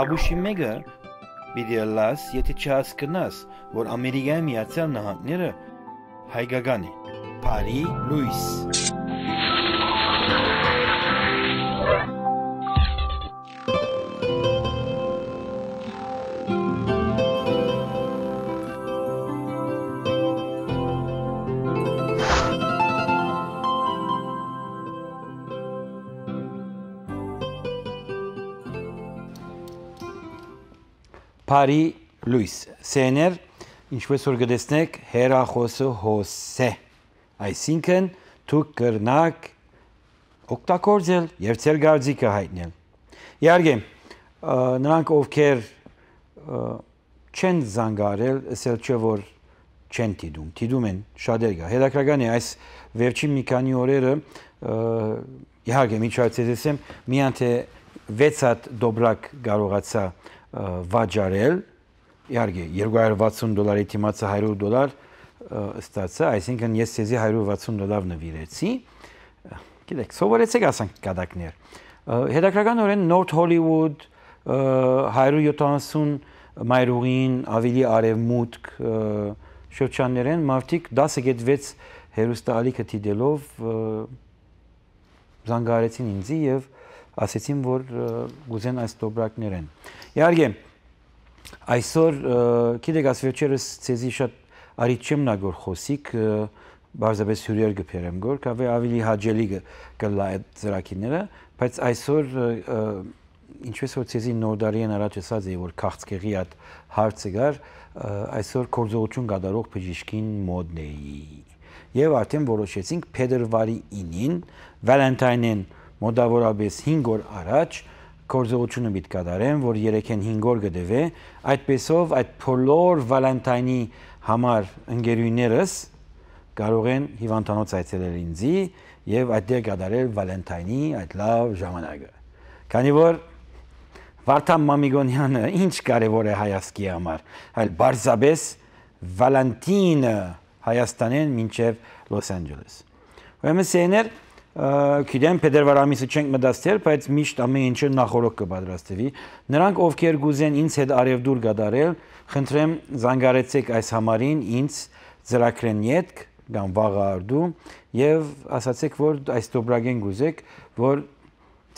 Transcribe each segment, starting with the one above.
Աբուշի մեկը պիտի լաս, եթե չհասկնաս, որ Ամերիկայի Միացյալ Նահանգները հայկական է, Փարի Լուիս։ Փարի Լուիս, սեներ, ինչպես որ գտեսնեք, հեռախոսը հոսե, այսինքն դուք կրնակ օգտագործել եւ ձեր գարձիկը հայտնել։ Իհարկե, նրանք ովքեր չեն զանգարել, ասել չէ որ չեն դիտում են շատեր կա։ Հետաքրքրական է այս վերջին մի քանի օրերը իհարկե միջոցից եմ միայն թե 6 հատ դոբրակ կարողացա վաճառել, իհարկե $260 թիմացը $100 ստացա, այսինքն ես ցեզի $160 նվիրեցի։ Գիտեք, սովորեցեք ասենք կադակներ։ Հետաքրքրականորեն North Hollywood 170 մայրուղին ավելի արևմուտք շրջաններեն մարդիկ 10.6 հերոստալիքը դիտելով զանգարեցին ինձ եւ ասեցին որ գուզեն այս դոբրակներեն։ Իհարկե այսօր գիտեք ասվերջերս ցեզի շատ արիտ չեմ նագոր խոսիկ բարձրապես հյուրեր գբերեմ գոր կավե ավելի հաջելի կլա այդ ծրակիները բայց այսօր ինչպես որ ցեզի նորդարիեն առաջ ասած է որ քաղցկեղի այդ հարցը գար այսօր կորձողություն կատարող բժիշկին մոդն է եւ արդեն որոշեցինք փետրվարի 9-ին Վալենտայնին մոտավորապես 5 օր առաջ կորձողությունը պիտի կատարեմ, որ 3-ին 5 օր գտևե, այդպեսով այդ բոլոր Վալենտայնի համար ընկերուներս կարող են հիվանդանոց այցելել ինձի եւ այդտեղ կատարել Վալենտայնի այդ լավ ժամանակը։ Քանի որ Վարդան Մամիկոնյանը ինչ կարևոր է հայացքի համար, այլ բարձրապես Վալենտինը Հայաստանեն մինչև Լոս Անջելես։ Ուրեմն սեներ Գիտեմ փետրվար ամիսը չենք մտածել, բայց միշտ ամեն ինչը նախորդ կպատրաստվի։ Նրանք ովքեր գուզեն ինձ հետ արևդուր գդարել, խնդրեմ զանգարեցեք այս համարին ինձ ծրագրեն յետք կամ վաղարդու եւ ասացեք որ այս դոբրագեն գուզեք, որ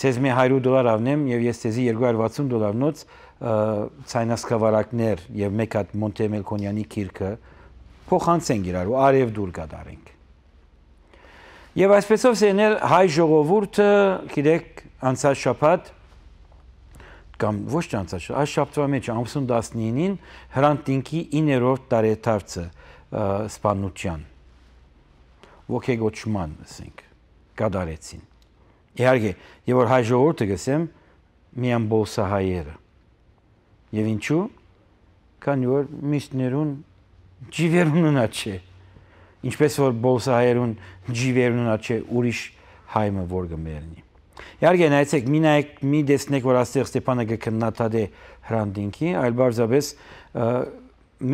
ցեզ մի $100 ավնեմ եւ ես ցեզի $260-նոց ցայնասկավարակներ եւ մեկ հատ Մոնտեմելքոնյանի քիրքը փոխանցենք իրար ու արևդուր գդարենք։ Եվ այսպեսով սեներ հայ ժողովուրդը, գիտեք, անցած շաբաթ կամ ոչ անցած շաբաթ, այս շաբթվա մեջ ամսուն 19-ին Հրանտ Տինքի 9-րդ տարեդարձը սպանության ոգեգոճման, ասենք, կատարեցին։ Իհարկե, եւ որ հայ ժողովուրդը գսեմ միան բոլսահայերը։ Եվ ինչու՞, քանի որ միշտներուն ջիվերուննա չէ։ Ինչպես որ բոլսահայերուն ջիվերուննա չէ ուրիշ հայմը որ գմերնի։ Իհարկե նայեցեք, մի դեսնեք որ աստեղ Ստեփանը գքննադե Հրանտինքի, այլ բարձրապես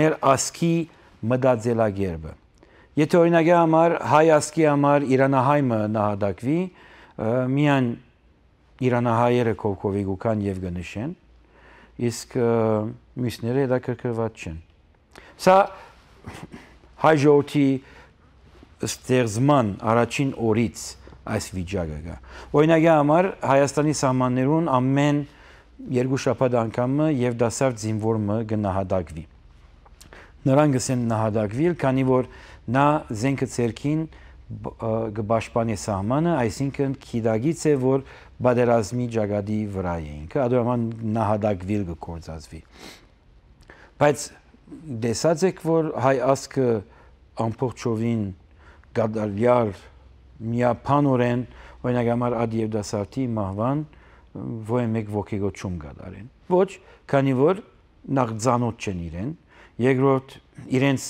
մեր ասկի մտածելակերպը։ Եթե օրինակի համար հայ ասկի համար իրանահայմը նահատակվի, միան իրանահայերը կողքովի գուքան եւ գնշեն, իսկ մյուսները հետաքրքրված չեն։ Սա հայ ժողովրդի ստեղծման առաջին օրից այս վիճակը կա։ Օրինակի համար Հայաստանի սահմաններուն ամեն 2 շաբաթ անգամը եւ դասարտ զինվորը կնահատակվի։ Նրանք գսեն նահատակվիլ, քանի որ նա զենքը ցերքին կպաշտպանի սահմանը, այսինքն քիդագից է որ բادرազմի ճակատի վրա է ինքը, ադորման նահատակվիլ կկործածվի։ Բայց դեսած եք որ հայ ասկը ամբողջովին գադալյալ միապանորեն օրինակ համար ադ եւ դասարտի մահվան ոչ մեկ ոգեգոճում կատարեն ոչ քանի որ նախ ցանոթ չեն իրեն երկրորդ իրենց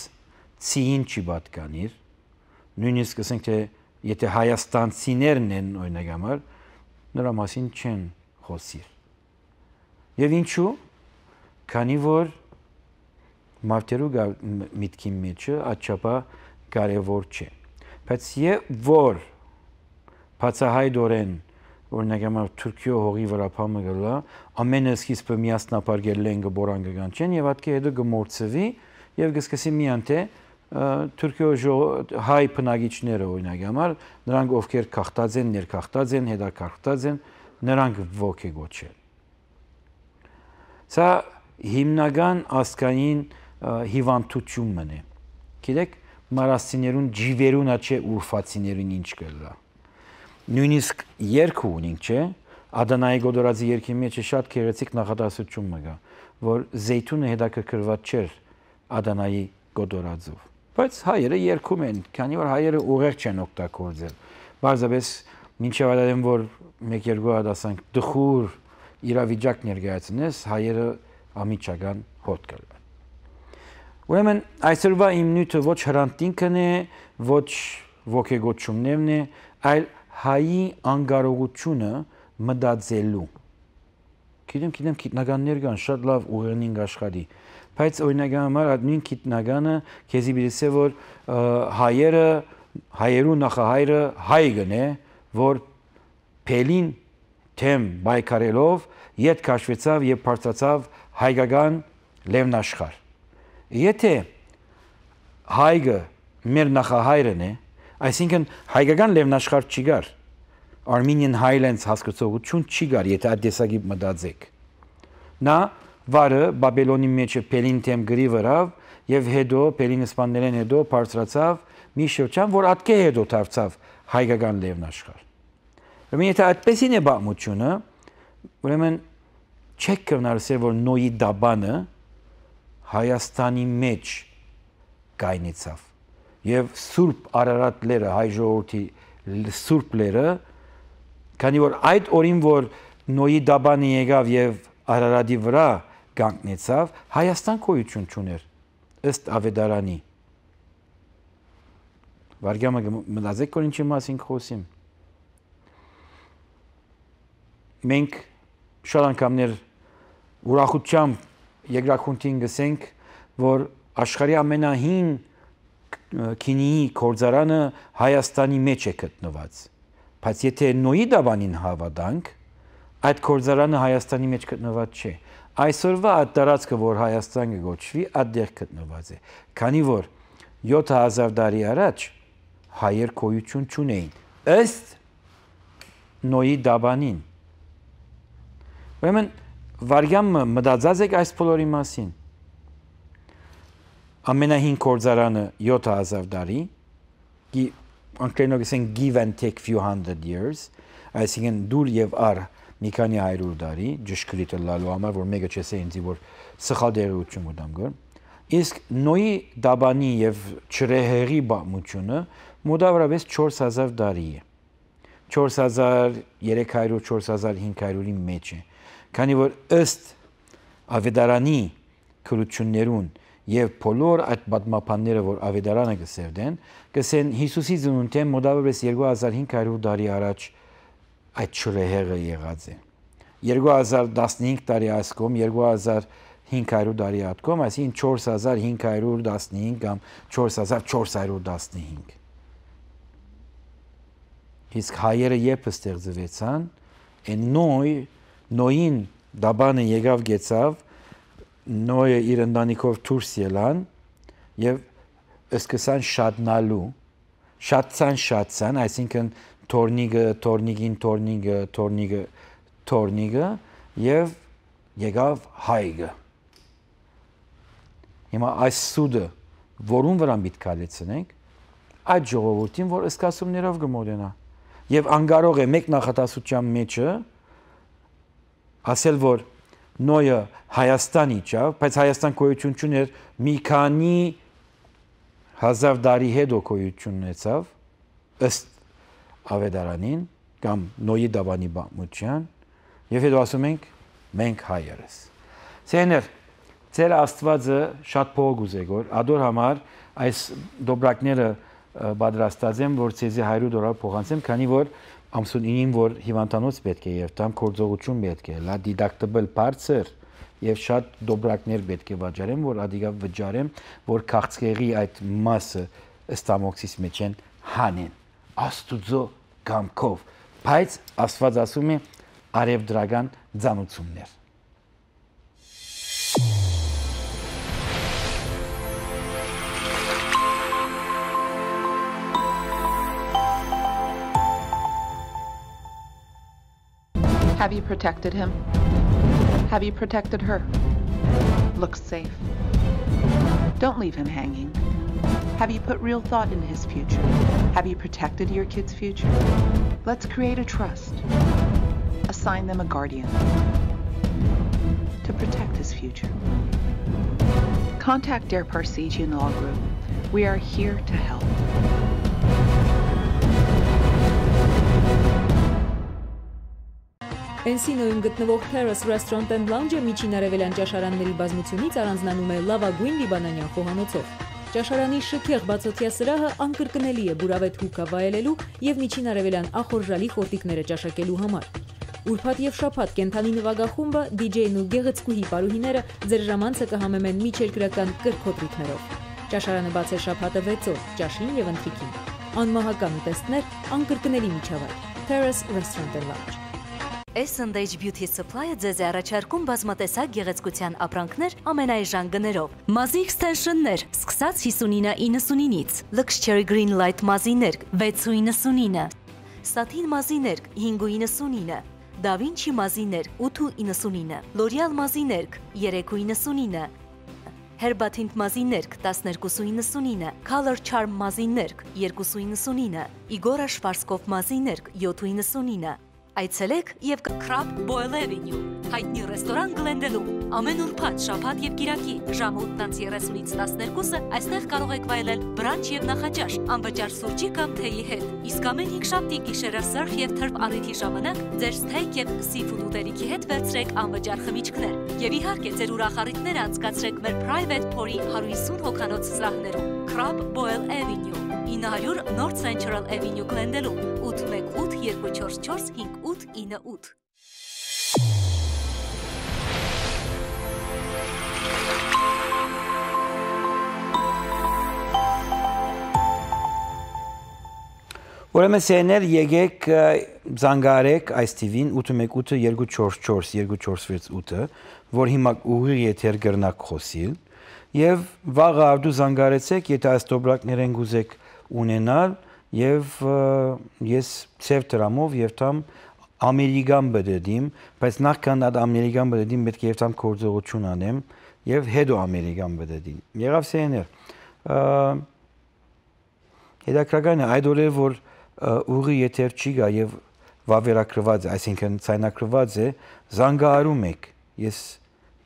ցին չի պատկանիր նույնիսկ ասենք թե եթե հայաստանցիներն են օրինակ համար նրա մասին չեն խոսիր եւ ինչու քանի որ մարդերու միտքի մեջը աչապա կարևոր չէ բայց որ բացահայտորեն օրինակ համար Թուրքիո հողի վրա փամը գլա ամենը սկիզբը միասնապարգել են գբորան գան չեն եւ հատկի հետո գմորցվի եւ գսկսի միան թե Թուրքիո հայ բնակիչները օրինակ համար նրանք ովքեր քաղտած են ներքաղտած են հետաքաղտած են նրանք ոգեգոչել սա հիմնական ասկային հիվանդությունն է գիտեք մարասիներուն ջիվերունա չէ ուրֆացիներուն ինչ կլա նույնիսկ երկու ունենք չէ Ադանայի գոդորածի երկի մեջ շատ քերեցիկ նախադասություն մգա որ զեյթունը հետաքրքրված չէր Ադանայի գոդորածով բայց հայերը երկում են քանի որ հայերը ուղեղ չեն օգտագործել բարձրապես մինչև այդեմ որ 1-2 հատ ասանք դխուր իրավիճակ ներկայացնես հայերը ամիջական հոտ կլան ուրեմն այսօրվա իմ նյութը ոչ հրանտինքն է ոչ ոգեգոչումներն է այլ հայի անկարողությունը մտածելու գիտեմ գիտնականներ կան շատ լավ ուղերնին աշխատի բայց օրինակ համար այդ նույն գիտնականը քեզի բիլսե որ հայերու նախահայրը հայգն է որ փելին թեմ բայկարելով իդ քաշվեցավ եւ բարձրացավ հայկական լևնաշխար եթե հայգը մեր նախահայրն է այսինքն հայկական լևնաշխար չի գար Armenian Highlands հասկացողություն չի գար եթե այդ դեսագի մտածեք նա վարը Բաբելոնի մեջը Պելին թեմ գրի վրավ եւ հետո Պելին իսպաններեն հետո բարձրացավ մի շրջան որ ատկե հետո դարձավ հայկական լևնաշխար ուրեմն եթե այդպեսին է բամությունը ուրեմն չեք կնարսել որ նոյի դաբանը Հայաստանի մեջ գայնեցավ եւ Սուրբ Արարատ լերը հայ ժողովրդի Սուրբ լերը քանի որ այդ օրին որ նոյի դաբանը եկավ եւ Արարատի վրա կանգնեցավ Հայաստան գոյություն չուներ ըստ Ավետարանի վարգյամը մտածեք որ ինչի մասին խոսիմ մենք շատ անգամներ ուրախությամբ երկրախնդին գսենք որ աշխարհի ամենահին քինիի կորձարանը Հայաստանի մեջ է գտնված բայց եթե նոյի դաբանին հավատանք այդ կորձարանը Հայաստանի մեջ գտնված չէ այսօրվա այդ տարածքը որ Հայաստանը գոչվի այդտեղ գտնված է քանի որ 7000 տարի առաջ հայեր գոյություն չունեին ըստ նոյի դաբանին ուրեմն վարգյամը մտածած եք այս բոլորի մասին ամենահին կորձարանը 7000 տարի անգլերենով ասենք give and take few hundred years այսինքն դուր եւ առ մի քանի 100 տարի ճշգրիտ լալու համար որ մեկը չեսե ինձ որ սխալ դերություն ուտամ գոր իսկ նոյի դաբանի եւ չրեհերի բամությունը մոտավորապես 4000 տարի է 4300 4500-ի մեջ է քանի որ ըստ Ավետարանի քրություններուն եւ բոլոր այդ պատմապանները որ Ավետարանը գսերդեն գսեն Հիսուսի ծնունդը մոտավորապես 2500 տարի առաջ այդ չրեհերը եղած է 2015 տարի ասկոմ 2500 տարի ատկոմ այսինքն 4515 կամ 4415 իսկ հայերը երբ ստեղծվեցան են նոյին դաբանը եկավ գեցավ նոյը իր ընտանիքով դուրս ելան եւ սկսան շատնալու շատցան այսինքն թորնիգը եւ եկավ հայգը հիմա այս սուդը որուն վրա միտք կալեցնենք այդ ժողովրդին որ ըսկասումներով գմոդենա եւ անկարող է մեկ նախատասության մեջը ասել որ նոյը Հայաստանի ճավ բայց Հայաստան գոյություն չուներ մի քանի հազար տարի հետո գոյություն ունեցավ ըստ Ավետարանին կամ նոյի դաբանի բամության եւ հետո ասում ենք մենք հայերս ցեներ ծեր Աստվածը շատ փող ուզեգոր ադոր համար այս դոբրակները պատրաստած եմ որ ցեզի 100 դոլար փոխանցեմ քանի որ ամսունին որ հիվանդանոց պետք է եւ տամ կորձողություն պետք է լա դիդակտաբլ բարձր եւ շատ դոբրակներ պետք է վաճառեմ, որ ադիգա վճարեմ, որ քաղցկեղի այդ մասը ստամոքսից մեջ են հանեն Աստուծո կամքով, բայց Աստված ասում է արևդրական ձանություններ։ Have you protected him? Have you protected her? Look safe. Don't leave him hanging. Have you put real thought into his future? Have you protected your kid's future? Let's create a trust. Assign them a guardian to protect his future. Contact Dare Parsegian Law Group. We are here to help. Encino-ում գտնվող Terrace Restaurant and Lounge-ը միջին արևելյան ճաշարանների բազմությունից առանձնանում է լավագույն լիբանանյան խոհանոցով։ Ճաշարանի շքեղ բացօթյա սրահը անկրկնելի է բուրավետ հուկա վայելելու եւ միջին արևելյան ախորժալի խորտիկները ճաշակելու համար։ Ուրբաթ եւ շաբաթ կենթանի նվագախումբը, DJ-ն ու գեղեցկուհի պարուհիները ձեր ժամանցը կհամեմեն միջերկրական կրքոտ ռիթմերով։ Ճաշարանը բաց է շաբաթը 6 օր, ճաշին եւ ընթրիքին։ Անմահական ուտեստներ, անկրկնելի միջավայր։ Terrace Restaurant and Lounge։ S&H Beauty Supply-ը ձեզ է առաջարկում բազմատեսակ գեղեցկության ապրանքներ ամենաէժան գներով։ Մազի extension-ներ, սկսած 59.99-ից, Luxury Green Light մազիներ 6.99, Satin մազիներ 5.99, Da Vinci մազիներ 8.99, L'Oreal մազիներ 3.99, Herbatint մազիներ 12.99, Color Charm մազիներ 2.99, Igor Schwarzkopf մազիներ 7.99 Այցելեք եւ Crab Boil Avenue, հայտնի ռեստորան Glendale-ում, ամեն ուրբաթ, շաբաթ եւ կիրակի, ժամը 8:30-ից 12-ը այստեղ կարող եք վայելել բրանչ եւ նախաճաշ, անվճար սուրճի կամ թեյի հետ։ Իսկ ամեն 5 շաբթի գիշերը surf եւ turf առիթի ժամանակ ձեր steak եւ seafood ուտելիքի հետ վերցրեք անվճար խմիչքներ։ Եվ իհարկե ձեր ուրախ առիթները անցկացրեք մեր private փորի 150 հոգանոց սրահներում։ Crab Boil Avenue 900 North Central Avenue Glendale-ում 818-244-5898 Ուրեմն սեներ եկեք զանգարեք այս TV-ին 818-244-248-ը, որ հիմա ուղիղ եթեր գրնակ խոսիլ, եւ վաղը արդու զանգարեցեք, եթե այս դոբրակներեն գուզեք ունենալ, եւ ես ծև դրամով եւ թամ ամերիկան բդեդիմ, բայց նախքան այդ ամերիկան բդեդիմ պետք է եւ թամ կորձողություն անեմ եւ հետո ամերիկան բդեդին։ Եղավ սեներ։ Հետաքրքրական է այդ օրը որ ուղի եթեր չի գա եւ վավերակրված է, այսինքն ցայնակրված է, զանգարում եք։ Ես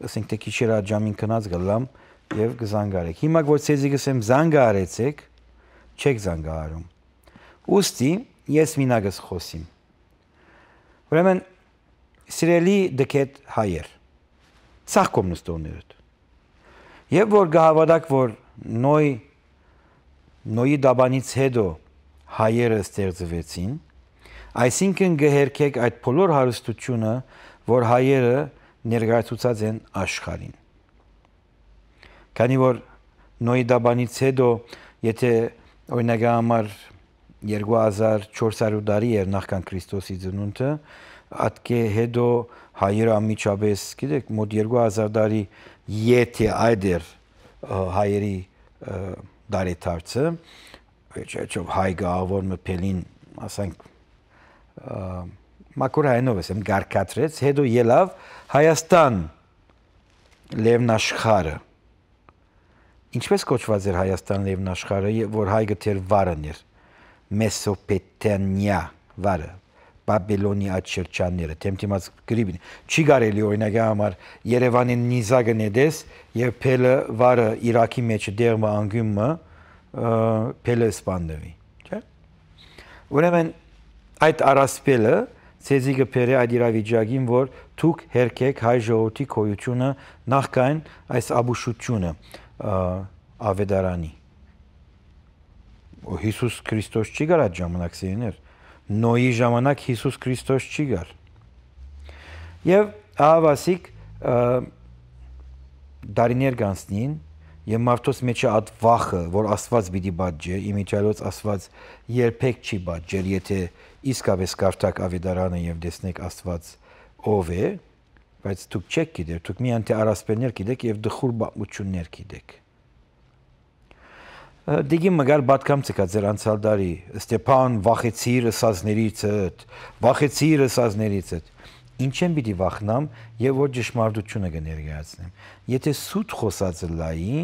ասենք թե քիչերա ջամին կնած գալամ եւ կզանգարեք։ Հիմա որ ցեզի գսեմ զանգարեցեք, չեք զանգարում։ Ուստի ես մինագս խոսիմ։ Ուրեմն սիրելի դկետ հայեր։ Սաղ կոմնուստորներդ։ Եվ որ գահավադակ որ նոյի դաբանից հետո հայերը ստեղծվեցին, այսինքն գհերքեք այդ բոլոր հարստությունը, որ հայերը ներկայացուցած են աշխարհին։ Քանի որ նոյի դաբանից հետո, եթե օրինակ համար 2400 տարի էր նախքան Քրիստոսի ծնունդը, ատկե հետո հայերը ամիջապես, գիտեք, մոտ 2000 տարի եթե այդ էր հայերի դարեթարցը, Չով հայ գաղավոր մպելին, ասենք, մակուր հայնով եմ գարկատրեց, հետո ելավ Հայաստան լևնաշխարը։ Ինչպես կոչված էր Հայաստան լևնաշխարը, որ հայ գտեր վարն էր, Մեսոպոտամիա վարը, Բաբելոնի այդ շրջանները, թեմթիմաց գրիբին, չի կարելի օրինակ համար Երևանի նիզակը նետես եւ փելը վարը Իրաքի մեջ դերմը անգյումը փելը սպանդվի, չէ՞։ Ուրեմն այդ առասպելը ցեզի կփերի այդ իրավիճակին, որ դուք հերքեք հայ ժողովրդի քոյությունը նախքան այս աբուշությունը ավետարանի։ Հիսուս Քրիստոս չի գար այդ ժամանակ սիրներ։ Նոյի ժամանակ Հիսուս Քրիստոս չի գար։ Եվ ահավասիկ դարիներ կանցնին եւ մարդոց մեջը այդ վախը, որ Աստված պիտի բաժե, իմիջիալոց Աստված երբեք չի բաժել, եթե իսկապես կարդաք Ավետարանը եւ տեսնեք Աստված ով է, բայց դուք չեք գիտեր, դուք միայն թե առասպելներ գիտեք եւ դխուր բացություններ գիտեք։ Դիգի մգար բատկամ ցկա ձեր անցյալ դարի Ստեփան վախեցիր ըսածներից ինչ եմ պիտի վախնամ եւ որ ճշմարտությունը կներկայացնեմ եթե սուտ խոսածը լայի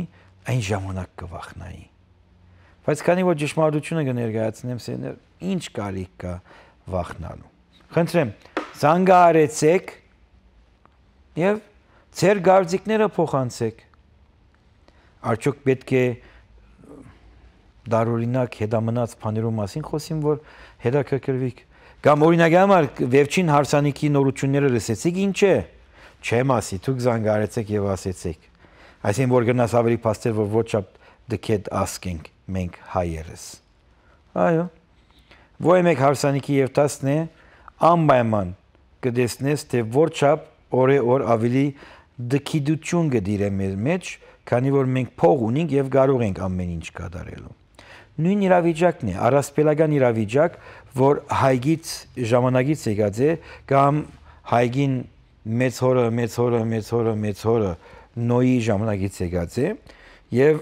այն ժամանակ կվախնայի բայց քանի որ ճշմարտությունը կներկայացնեմ սեներ ինչ կարիք կա վախնալու խնդրեմ զանգահարեցեք եւ ձեր գարձիկները փոխանցեք արդյոք պետք է դարօրինակ հետամնաց բաներու մասին խոսիմ որ հետաքրքրվիք կամ օրինակ համար վերջին հարսանիքի նորությունները լսեցիք ինչ է չեմ ասի դուք զանգարեցեք եւ ասեցիք այսինքն որ գնաս ավելի փաստեր որ ոչ the kid asking մենք հայերս այո ոյ մեկ հարսանիքի եւ 10-ն է անպայման կդեսնես թե որ չափ օր ավելի դքիդություն գդիրե մեր մեջ քանի որ մենք փող ունենք եւ կարող ենք ամեն ինչ կատարելու նույն իրավիճակն է առասպելական իրավիճակ որ հայգից ժամանակից եկած է կամ հայգին մեծ հորը նոյի ժամանակից եկած է եւ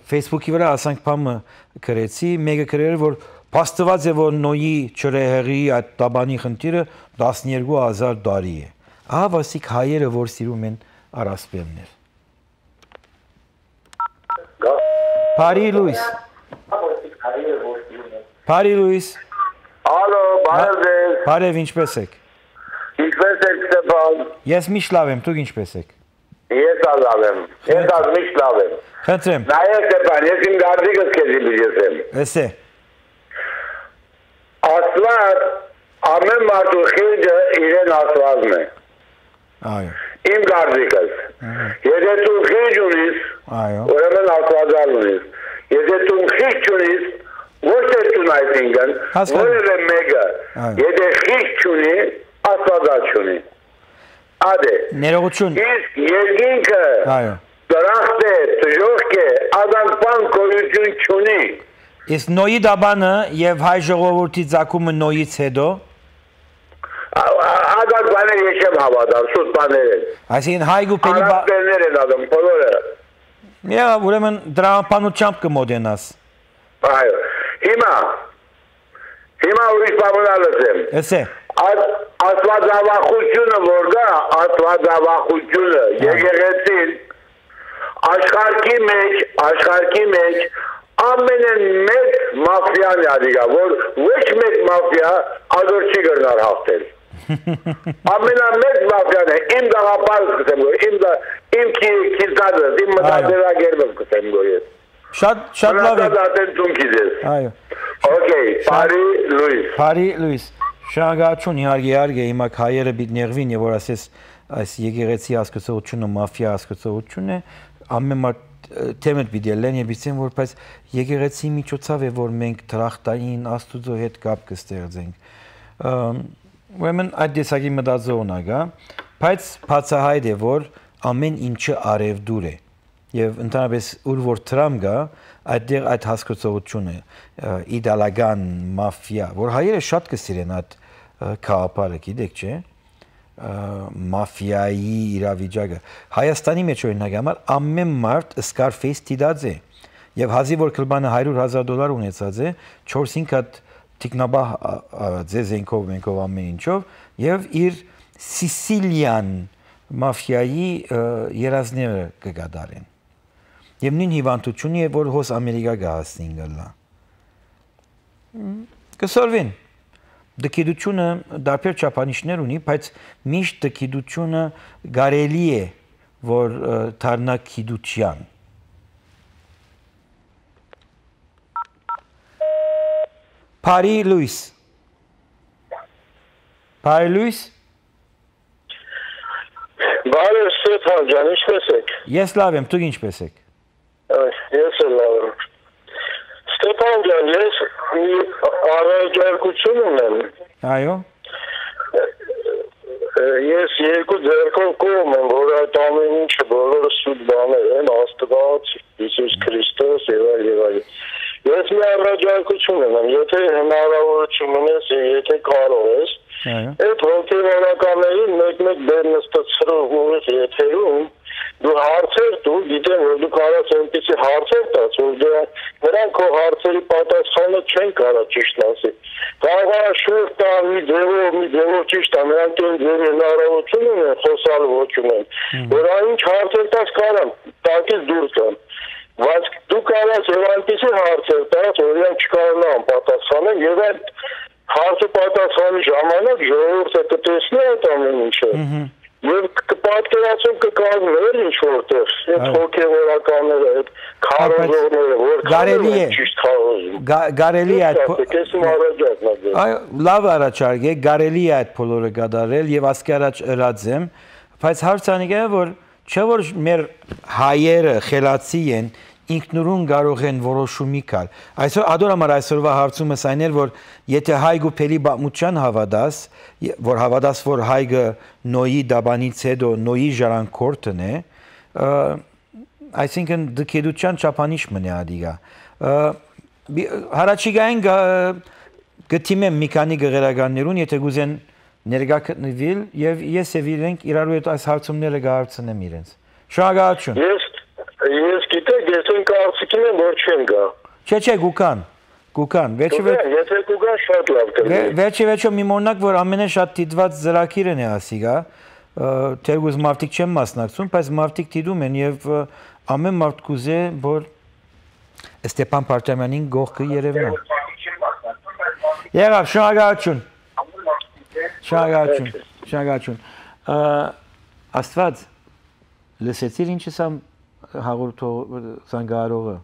Facebook-ի վրա ասանք բամը գրեցի մեկը գրել որ փաստված է որ նոյի ճրեհերի այդ տաբանի խնդիրը 12000 տարի է ահա վասիկ հայերը որ սիրում են առասպելներ Բարի Լուիս Ալո, բարև ձեզ Բարև, ինչպես եք Ինչպես եք Ստեփան Ես միշտ լավ եմ, դուք ինչպես եք Ես լավ եմ, ես միշտ լավ եմ Խնդրեմ Նայեք Ստեփան, ես իմ գարձիկս քեզի բիջեսեմ Էսե Աստված ամեն մարդու խիղճը իրեն աստվածն է Այո Իմ գարձիկս Եթե դու խիղճ ունիս ուրեմն աստվածալ ունիս Եթե դու խիղճ ունիս ոչ թե դու այսինքն որևէ մեկը եթե խիղճ ունի աստվածալ չունի Ադե Ներողություն Իսկ երկինքը Այո դրախտ է, դժոխք է, ազանպան գոյություն չունի Իսկ նոյի դաբանը եւ հայ ժողովրդի ցակումը նոյից հետո Ադակ բաներ ես չեմ հավատալ, սուտ բաներ են Այսինքն հայ գուպերի Արաբերներ են ադում, բոլորը Միա, ուրեմն դրամապանությամբ կմոդենաս Այո, հիմա ուրիշ բամունալս եմ Էսե Աստվածավախությունը որ գա, աստվածավախությունը եկեղեցին աշխարհքի մեջ ամենամեծ մաֆիան ադիգա, որ ոչ մեկ մաֆիա ադոր չի գրնար հաղթել Ամենամեծ մաֆիան է, իմ դաղապարս կսեմ գոյ, իմ քիզադս, իմ մտածելագերբս կսեմ գոյ ես Շատ լավ է Մնացած ծունքի ձեզ Այո Okay, Բարի Լուիս Շնորհակալություն իհարկե հիմա հայերը պիտի նեղվին եւ որ ասես այս եկեղեցի հասկացողությունը մաֆիա հասկացողությունն է ամեն մարդ թեմը պիտի լեն եւ իսկեն որ բայց եկեղեցի միջոցով է որ մենք դրախտային աստուծո հետ կապ կստեղծենք ուրեմն այդ դեսագի մտածողն ա բայց բացահայտ է որ ամեն ինչը արևդուր է եւ ընդհանրապես ուր որ տրամ գա այդտեղ այդ հասկացողությունը իդեալական մաֆիա որ հայերը շատ կսիրեն այդ քահապարը գիտեք չէ մաֆիայի իրավիճակը Հայաստանի մեջ օրինակ համար ամեն մարդ Scarface դիտած է եւ հազի որ կլբանը $100,000 ունեցած է 4-5 հատ տիկնաբահ ձեզենքով մենքով ամեն ինչով եւ իր Սիսիլիան մաֆիայի երազները կգադարեն եւ նույն հիվանդությունը է որ հոս Ամերիկա գահասին գալա կսորվին Դքիդությունը դարբեր չափանիշներ ունի, բայց միշտ դքիդությունը կարելի է, որ դառնա քիդության։ Բարի Լուիս։ Բարի Ստեփան ջան, ինչպես եք։ Ես լավ եմ, դուք ինչպես եք։ Ես լավ եմ։ Ստեփան ջան, ես առաջարկություն ունեմ։ Այո։ Ես երկու ձեռքով կողմ եմ, որ այդ ամեն ինչը բոլորը սուտ բաներ են, Աստված, Հիսուս Քրիստոս եւ այլն։ Ես մի առաջարկություն ունեմ, եթե հնարավորություն ունես, եթե կարող ես, այդ հոգեվորականներին մեկ-մեկ դեր նստեցրող ուղիղ եթերում դու հարցեր դու գիտեմ որ դու կարաս այնպիսի հարցեր տաս որ նրանք քո հարցերի պատասխանը չեն կարա ճիշտ ասել կարող է շուրջ տան մի ձևով ճիշտ է նրանք այն ձևի հնարավորություն ունեն խոսալ ոչ ունեն որ այն հարցեր տաս կարան տակից դուրս գան բայց դու կարաս եւ այնպիսի հարցեր տաս որ իրենք չկարողանան պատասխանել եւ այդ հարցը պատասխանի ժամանակ ժողովուրդը կտեսնի այդ ամեն ինչը Եվ կպատկերացում կկազմեր ինչ-որտեղ, այդ հոգևորականները, այդ քարոզողները, որ կարելի է ճիշտ խաղոզում։ Կարելի է այդ լավ առաջարկ է, կարելի է այդ բոլորը կատարել եւ ասկի առաջ ըրած եմ, բայց հարցը է որ չէ որ մեր հայերը խելացի են ինքնուրույն կարող են որոշումի կալ։ Այսօր ադորամար այսօրվա հարցումս այն էր, որ եթե հայգու փելի բամուճան հավատաս, որ հավատաս, որ հայգը նոյի դաբանից հետո նոյի ժառանգորդն է, այսինքն դքեդության չափանիշ մնա ադիգա։ Հարաճիգային գտիմեմ մի քանի գեղարականներուն, եթե գուզեն ներկա գտնվել եւ ես եւ իրենք իրարու հետ այս հարցումները կհարցնեմ իրենց։ Շնորհակալություն։ Ես գիտեք, ես այն կարծիքին եմ, որ չեն գա։ Չէ, գուկան, եթե գուկան շատ լավ կլինի։ Վերջի մի մոնակ, որ ամենաշատ դիտված ծրագիրն է ասիգա, թերգուզ մարդիկ չեն մասնակցում, բայց մարդիկ դիտում են եւ ամեն մարդ կուզե, որ Ստեփան Պարտամյանին գողքը երևնա։ Եղավ, շնորհակալություն։ Աստված, լսեցիր ինչ է հաղորդող զանգահարողը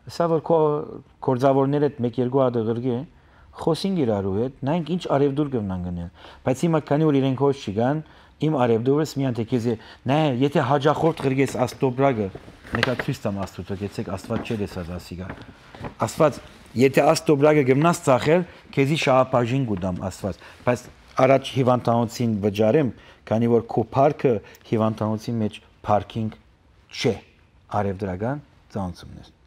սա որ կորձավորներ հետ 1-2 հատ ղրգի խոսին իրարու հետ նայենք ինչ արևդուր կգնան գնել բայց հիմա քանի որ իրենք հոչ չգան իմ արևդուրս մի անտեքեզի նայ եթե հաջախորդ ղրգես աստոբրագը նկա ցույց տամ աստծո գեցեք աստված չէ դեսած ասիգա աստված եթե աստոբրագը գնաս ծախել քեզի շահապաժին գուդամ աստված բայց առաջ հիվանդանոցին վճարեմ քանի որ քո парքը հիվանդանոցի մեջ парքինգ չէ արևդրական ծանոթություններ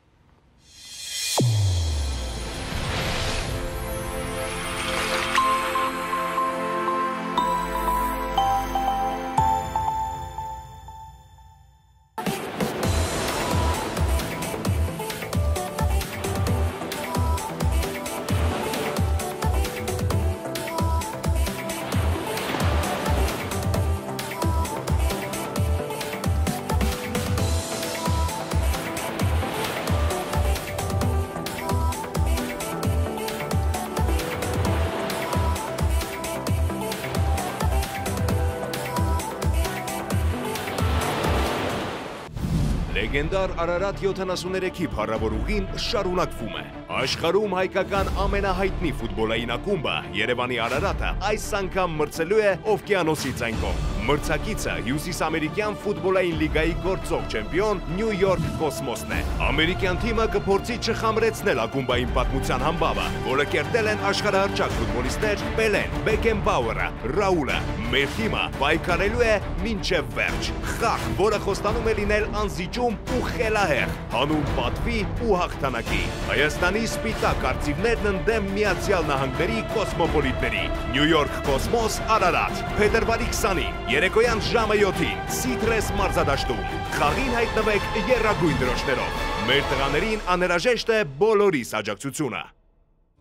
Լեգենդար Արարատ 73-ի փառավոր ուղին շարունակվում է։ Աշխարհում հայկական ամենահայտնի ֆուտբոլային ակումբը Երևանի Արարատը այս անգամ մրցելու է օվկիանոսից այն կողմ։ Մրցակիցը հյուսիսամերիկյան ֆուտբոլային լիգայի գործող չեմպիոն Նյու Յորք Կոսմոսն է։ Ամերիկյան թիմը կփորձի չխամրեցնել ակումբային պատմության համբավը, որը կերտել են աշխարհահռչակ ֆուտբոլիստներ Պելեն, Բեկենբաուերը, Ռաուլը։ Մեր թիմը պայքարելու է մինչև վերջ։ Խաղ, որը խոստանում է լինել անզիջում ու խելահեղ, հանուն պատվի ու հաղթանակի։ Հայաստանի սպիտակ արծիվներն ընդդեմ Միացյալ Նահանգների կոսմոպոլիտների։ Նյու Յորք Կոսմոս Արարատ, փետրվարի 20-ին, երեկոյան ժամը 7-ին, Սիթրես մարզադաշտում։ Խաղին հայտնվեք եռագույն դրոշներով։ Մեր տղաներին անհրաժեշտ է բոլորիս աջակցությունը։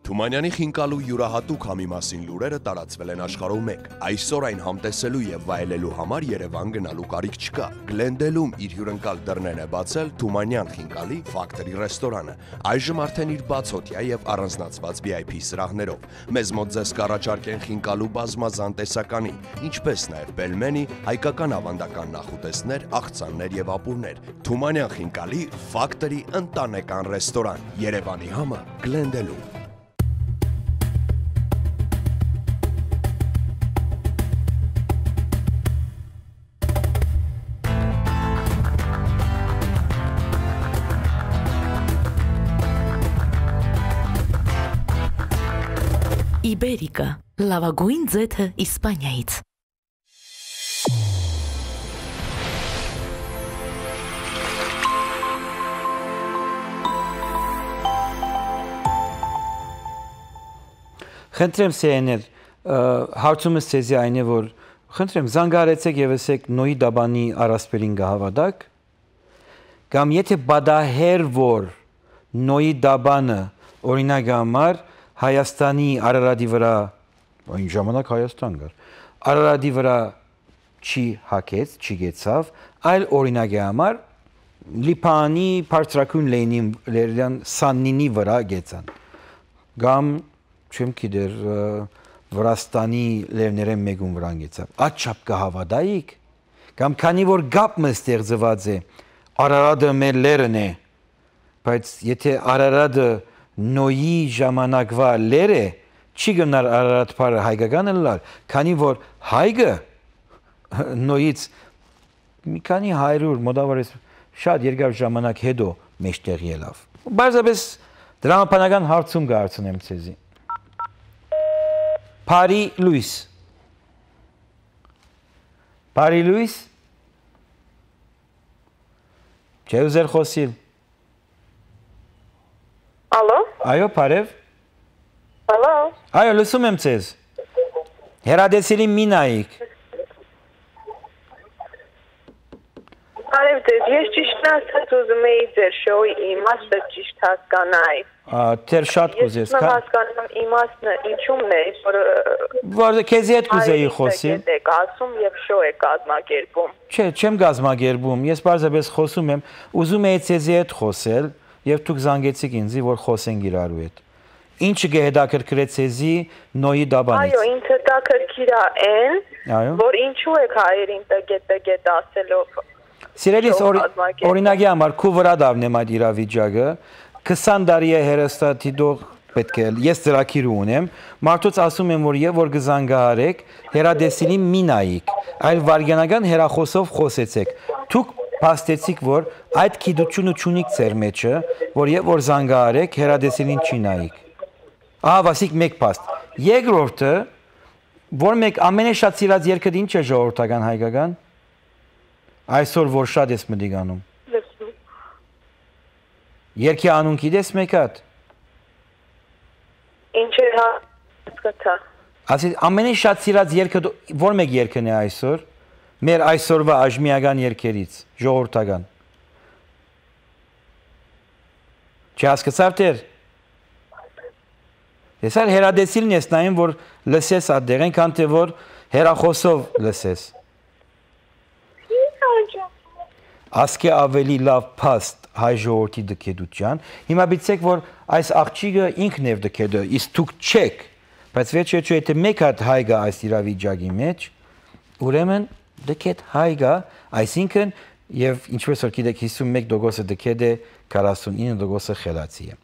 Թումանյանի խինկալու յուրահատուկ համի մասին լուրերը տարածվել են աշխարհում մեկ։ Այսօր այն համտեսելու եւ վայելելու համար Երևան գնալու կարիք չկա։ Գլենդելում իր հյուրընկալ դռներն է բացել Թումանյան խինկալի Factory ռեստորանը։ Այժմ արդեն իր բացօթյա եւ առանձնացված VIP սրահներով։ Մեզ մոտ ձեզ կառաջարկեն խինկալու բազմազան տեսականի, ինչպես նաեւ պելմենի, հայկական ավանդական նախուտեսներ, աղցաններ եւ ապուրներ։ Թումանյան խինկալի Factory ընտանեկան ռեստորան։ Երևանի համը Գլենդելում։ Իբերիկա, լավագույն ձեթը Իսպանիայից։ խնդրեմ սեներ հարցումս ցեզի այն է որ խնդրեմ զանգարեցեք եւ ասեք նոյի դաբանի առասպելին գահավադակ կամ եթե բադահեր որ նոյի դաբանը օրինակ համար Հայաստանի Արարատի վրա այն ժամանակ Հայաստան գար Արարատի վրա չի հակեց չի գեցավ այլ օրինակի համար Լիփանի Պարտրակուն Լենին Սաննինի վրա գեցան կամ չեմ գիտեր Վրաստանի լևներեն մեգուն վրան գեցավ աչափ կհավադայիք կամ քանի որ գապը ստեղծված է Արարատը մեր լերն է բայց եթե Արարատը նոյի ժամանակվա լեր է չի գնար Արարատ փարը հայկականը լալ քանի որ հայկը նոյից մի քանի 100 մոտավորապես շատ երկար ժամանակ հետո մեջտեղ ելավ բարձրապես դրամապանական հարցում կհարցնեմ ցեզի Փարի Լուիս Չէ ուզեր խոսիլ Ալո Այո բարև Ալո Այո լսում եմ ցեզ Հերադեսիլի մինայիկ Բարև ձեզ, ես ճիշտ ասած ուզում էի ձեր շոուի իմաստը ճիշտ հասկանալ։ Թեր շատ կուզես, Ես հասկանում իմաստը ինչումն է, որ քեզի հետ կուզեի խոսել։ Եք ասում եւ շոու եք կազմակերպում։ Չէ, չեմ կազմակերպում, ես բարձրապես խոսում եմ, ուզում էի քեզի հետ խոսել եւ դուք զանգեցիք ինձ, որ խոսենք իրարու հետ։ Ինչը գեհդակրկրեց քեզի նոյի դաբանից։ Այո, ինձ հետաքրքիր է այն, որ ինչու եք հայերին տգետ ասելով Սիրելիս օրինակի համար քու վրա դառնեմ այդ իրավիճակը 20 տարի է հերոստատիտող պետք է ես ծրագիր ունեմ մարդուց ասում եմ որ եւ որ գզանգահարեք հերադեսիլի մինայիկ այլ վարգանական հերախոսով խոսեցեք դուք փաստեցիք որ այդ քիդությունը ճունիկ ծեր մեջը որ եւ որ զանգահարեք հերադեսիլին չի նայիկ ահա վասիկ մեկ փաստ երկրորդը որ մեկ ամենաշատ սիրած երգը ինչ է ժողովրդական հայկական Այսօր որ շատ ես մտիգանում։ Երկի անուն գիտես մեկ հատ։ Ինչ է հասկացա։ Ասես ամենից շատ սիրած երգը որ մեկ երգն է այսօր։ Մեր այսօրվա աժմիական երգերից, ժողովրդական։ Չհասկացավ դեր։ Ես այլ հերադեսիլն ես նայում որ լսես այդտեղ այնքան թե որ հերախոսով լսես։ Ասկե ավելի լավ փաստ հայ ժողովրդի դքեդության հիմա բիցեք որ այս աղջիկը ինքն է դքեդը իսկ դուք չեք բայց վերջը եթե մեկ հատ հայ գա այս իրավիճակի մեջ ուրեմն դքեդ հայ գա այսինքն եւ ինչպես որ գիտեք 51% դքեդ է 49% խելացի է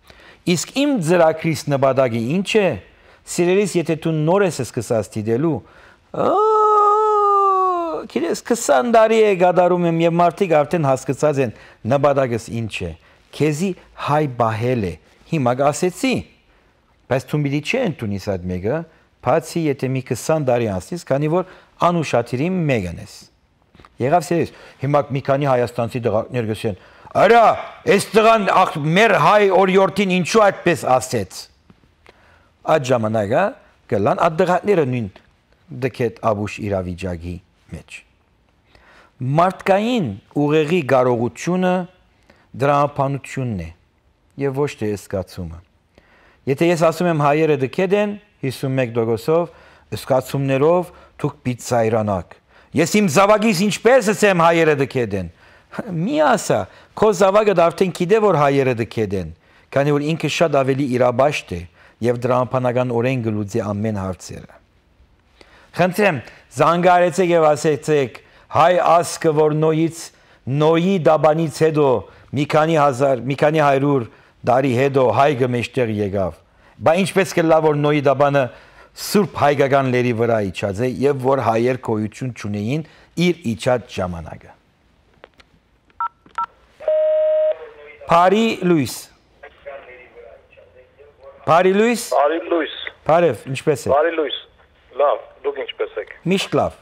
իսկ իմ ծրագրիս նպատակը ինչ է սիրելիս եթե դու նոր ես սկսած դիտելու Քիրես 20 տարի է գադարում եմ եւ մարդիկ արդեն հասկացած են նպատակս ինչ է քեզի հայ բահել է հիմա ասեցի բայց դու մի դի չեն տունիս այդ մեկը բացի եթե մի 20 տարի անցնես քանի որ անուշատիրի մեկն ես եղավ սերես հիմա մի քանի հայաստանցի դղակներ գսեն արա այս տղան մեր հայ օրիորդին ինչու այդպես ասեց այդ ժամանակա գլան այդ դղակները նույն դքետ աբուշ իրավիճակի մեջ մարդկային ուղեղի կարողությունը դրամապանությունն է եւ ոչ թե զգացումը եթե ես ասում եմ հայերը դքեդ են 51%-ով զգացումներով դուք պիցայրանակ ես իմ զավակից ինչպես ասեմ հայերը դքեդ են մի ասա քո զավակը արդեն գիտե որ հայերը դքեդ են քանի որ ինքը շատ ավելի իրաբաշտ է եւ դրամապանական օրեն գլուծի ամեն հարցերը Խնդրեմ, զանգարեցեք եւ ասեցեք հայ ասկը որ նոյի դաբանից հետո մի քանի 100 տարի հետո հայը մեջտեղ եկավ։ Բա ինչպես կլա որ նոյի դաբանը սուրբ հայկական լերի վրա իջած է եւ որ հայեր գոյություն չունեին իր իջած ժամանակը։ Փարի Լուիս Բարև, ինչպես եք։ Բարի Լուիս։ Լավ, դուք ինչպես եք։ Միշտ լավ։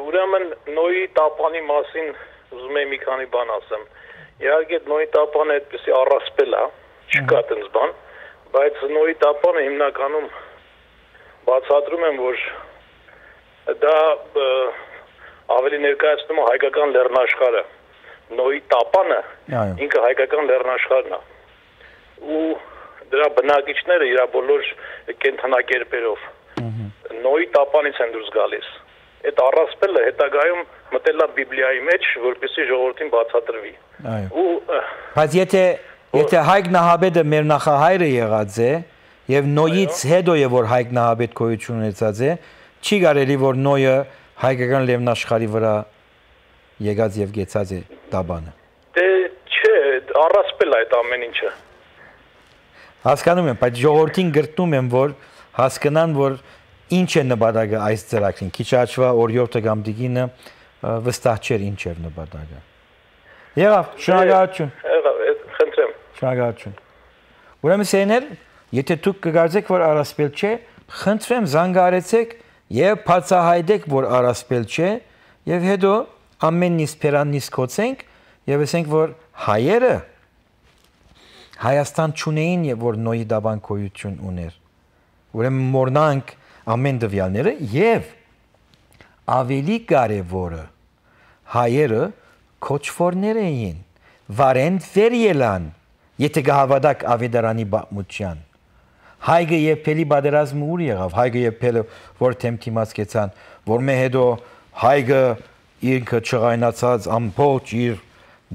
Ուրեմն նոյի տապանի մասին ուզում եմ մի քանի բան ասեմ։ Իհարկե նոյի տապանը այդպեսի առասպել է, չկա այդպես բան, Բայց նոյի տապանը հիմնականում բացատրում եմ, որ դա ավելի ներկայացնում է հայկական լեռնաշխարհը։ Նոյի տապանը ինքը հայկական լեռնաշխարհն է։ Ու դրա բնակիչները իր բոլոր կենդանակերպերով նոյի տապանից են դուրս գալիս։ Այդ առասպելը հետագայում մտել է Բիբլիայի մեջ, որպեսզի ժողովրդին բացատրվի։ Բայց եթե Հայկ Նահաբեդը մեր նախահայրը եղած է եւ Նոյից հետո է որ Հայկ Նահաբեդ գոյություն ունեցած է, չի կարելի որ Նոյը հայկական լեռնաշխարհի վրա եկած եւ գեցած է տաբանը։ Դե չէ, առասպել է այդ ամեն ինչը։ Հասկանում եմ, բայց ժողովրդին գրտնում եմ որ հասկանան որ ինչ է նպատակը այս ծրագրին։ Քիչ աչվա օրիորդը կամ դիգինը վստահ չէր ինչ էր նպատակը։ Եղավ, շնորհակալություն։ Եղավ, խնդրեմ։ Շնորհակալություն։ Ուրեմն սեներ, եթե դուք կգարձեք որ առասպել չէ, խնդրեմ զանգահարեցեք եւ բացահայտեք որ առասպել չէ եւ հետո ամեն ինչ փերանից կոչենք եւ ասենք որ հայերը Հայաստան չունեին եւ որ նոյի դաբան գոյություն ուներ։ Ուրեմն մորնանք ամեն դվյալները եւ ավելի կարևորը հայերը քոչվորներ էին վարեն վերելան եթե կհավատաք ավետարանի բամուտյան հայգը եւ փելի բادرազմը ուր եղավ հայգը եւ փելը որ թեմթիմաց կեցան որ մե հետո հայգը ինքը չղայնացած ամբողջ իր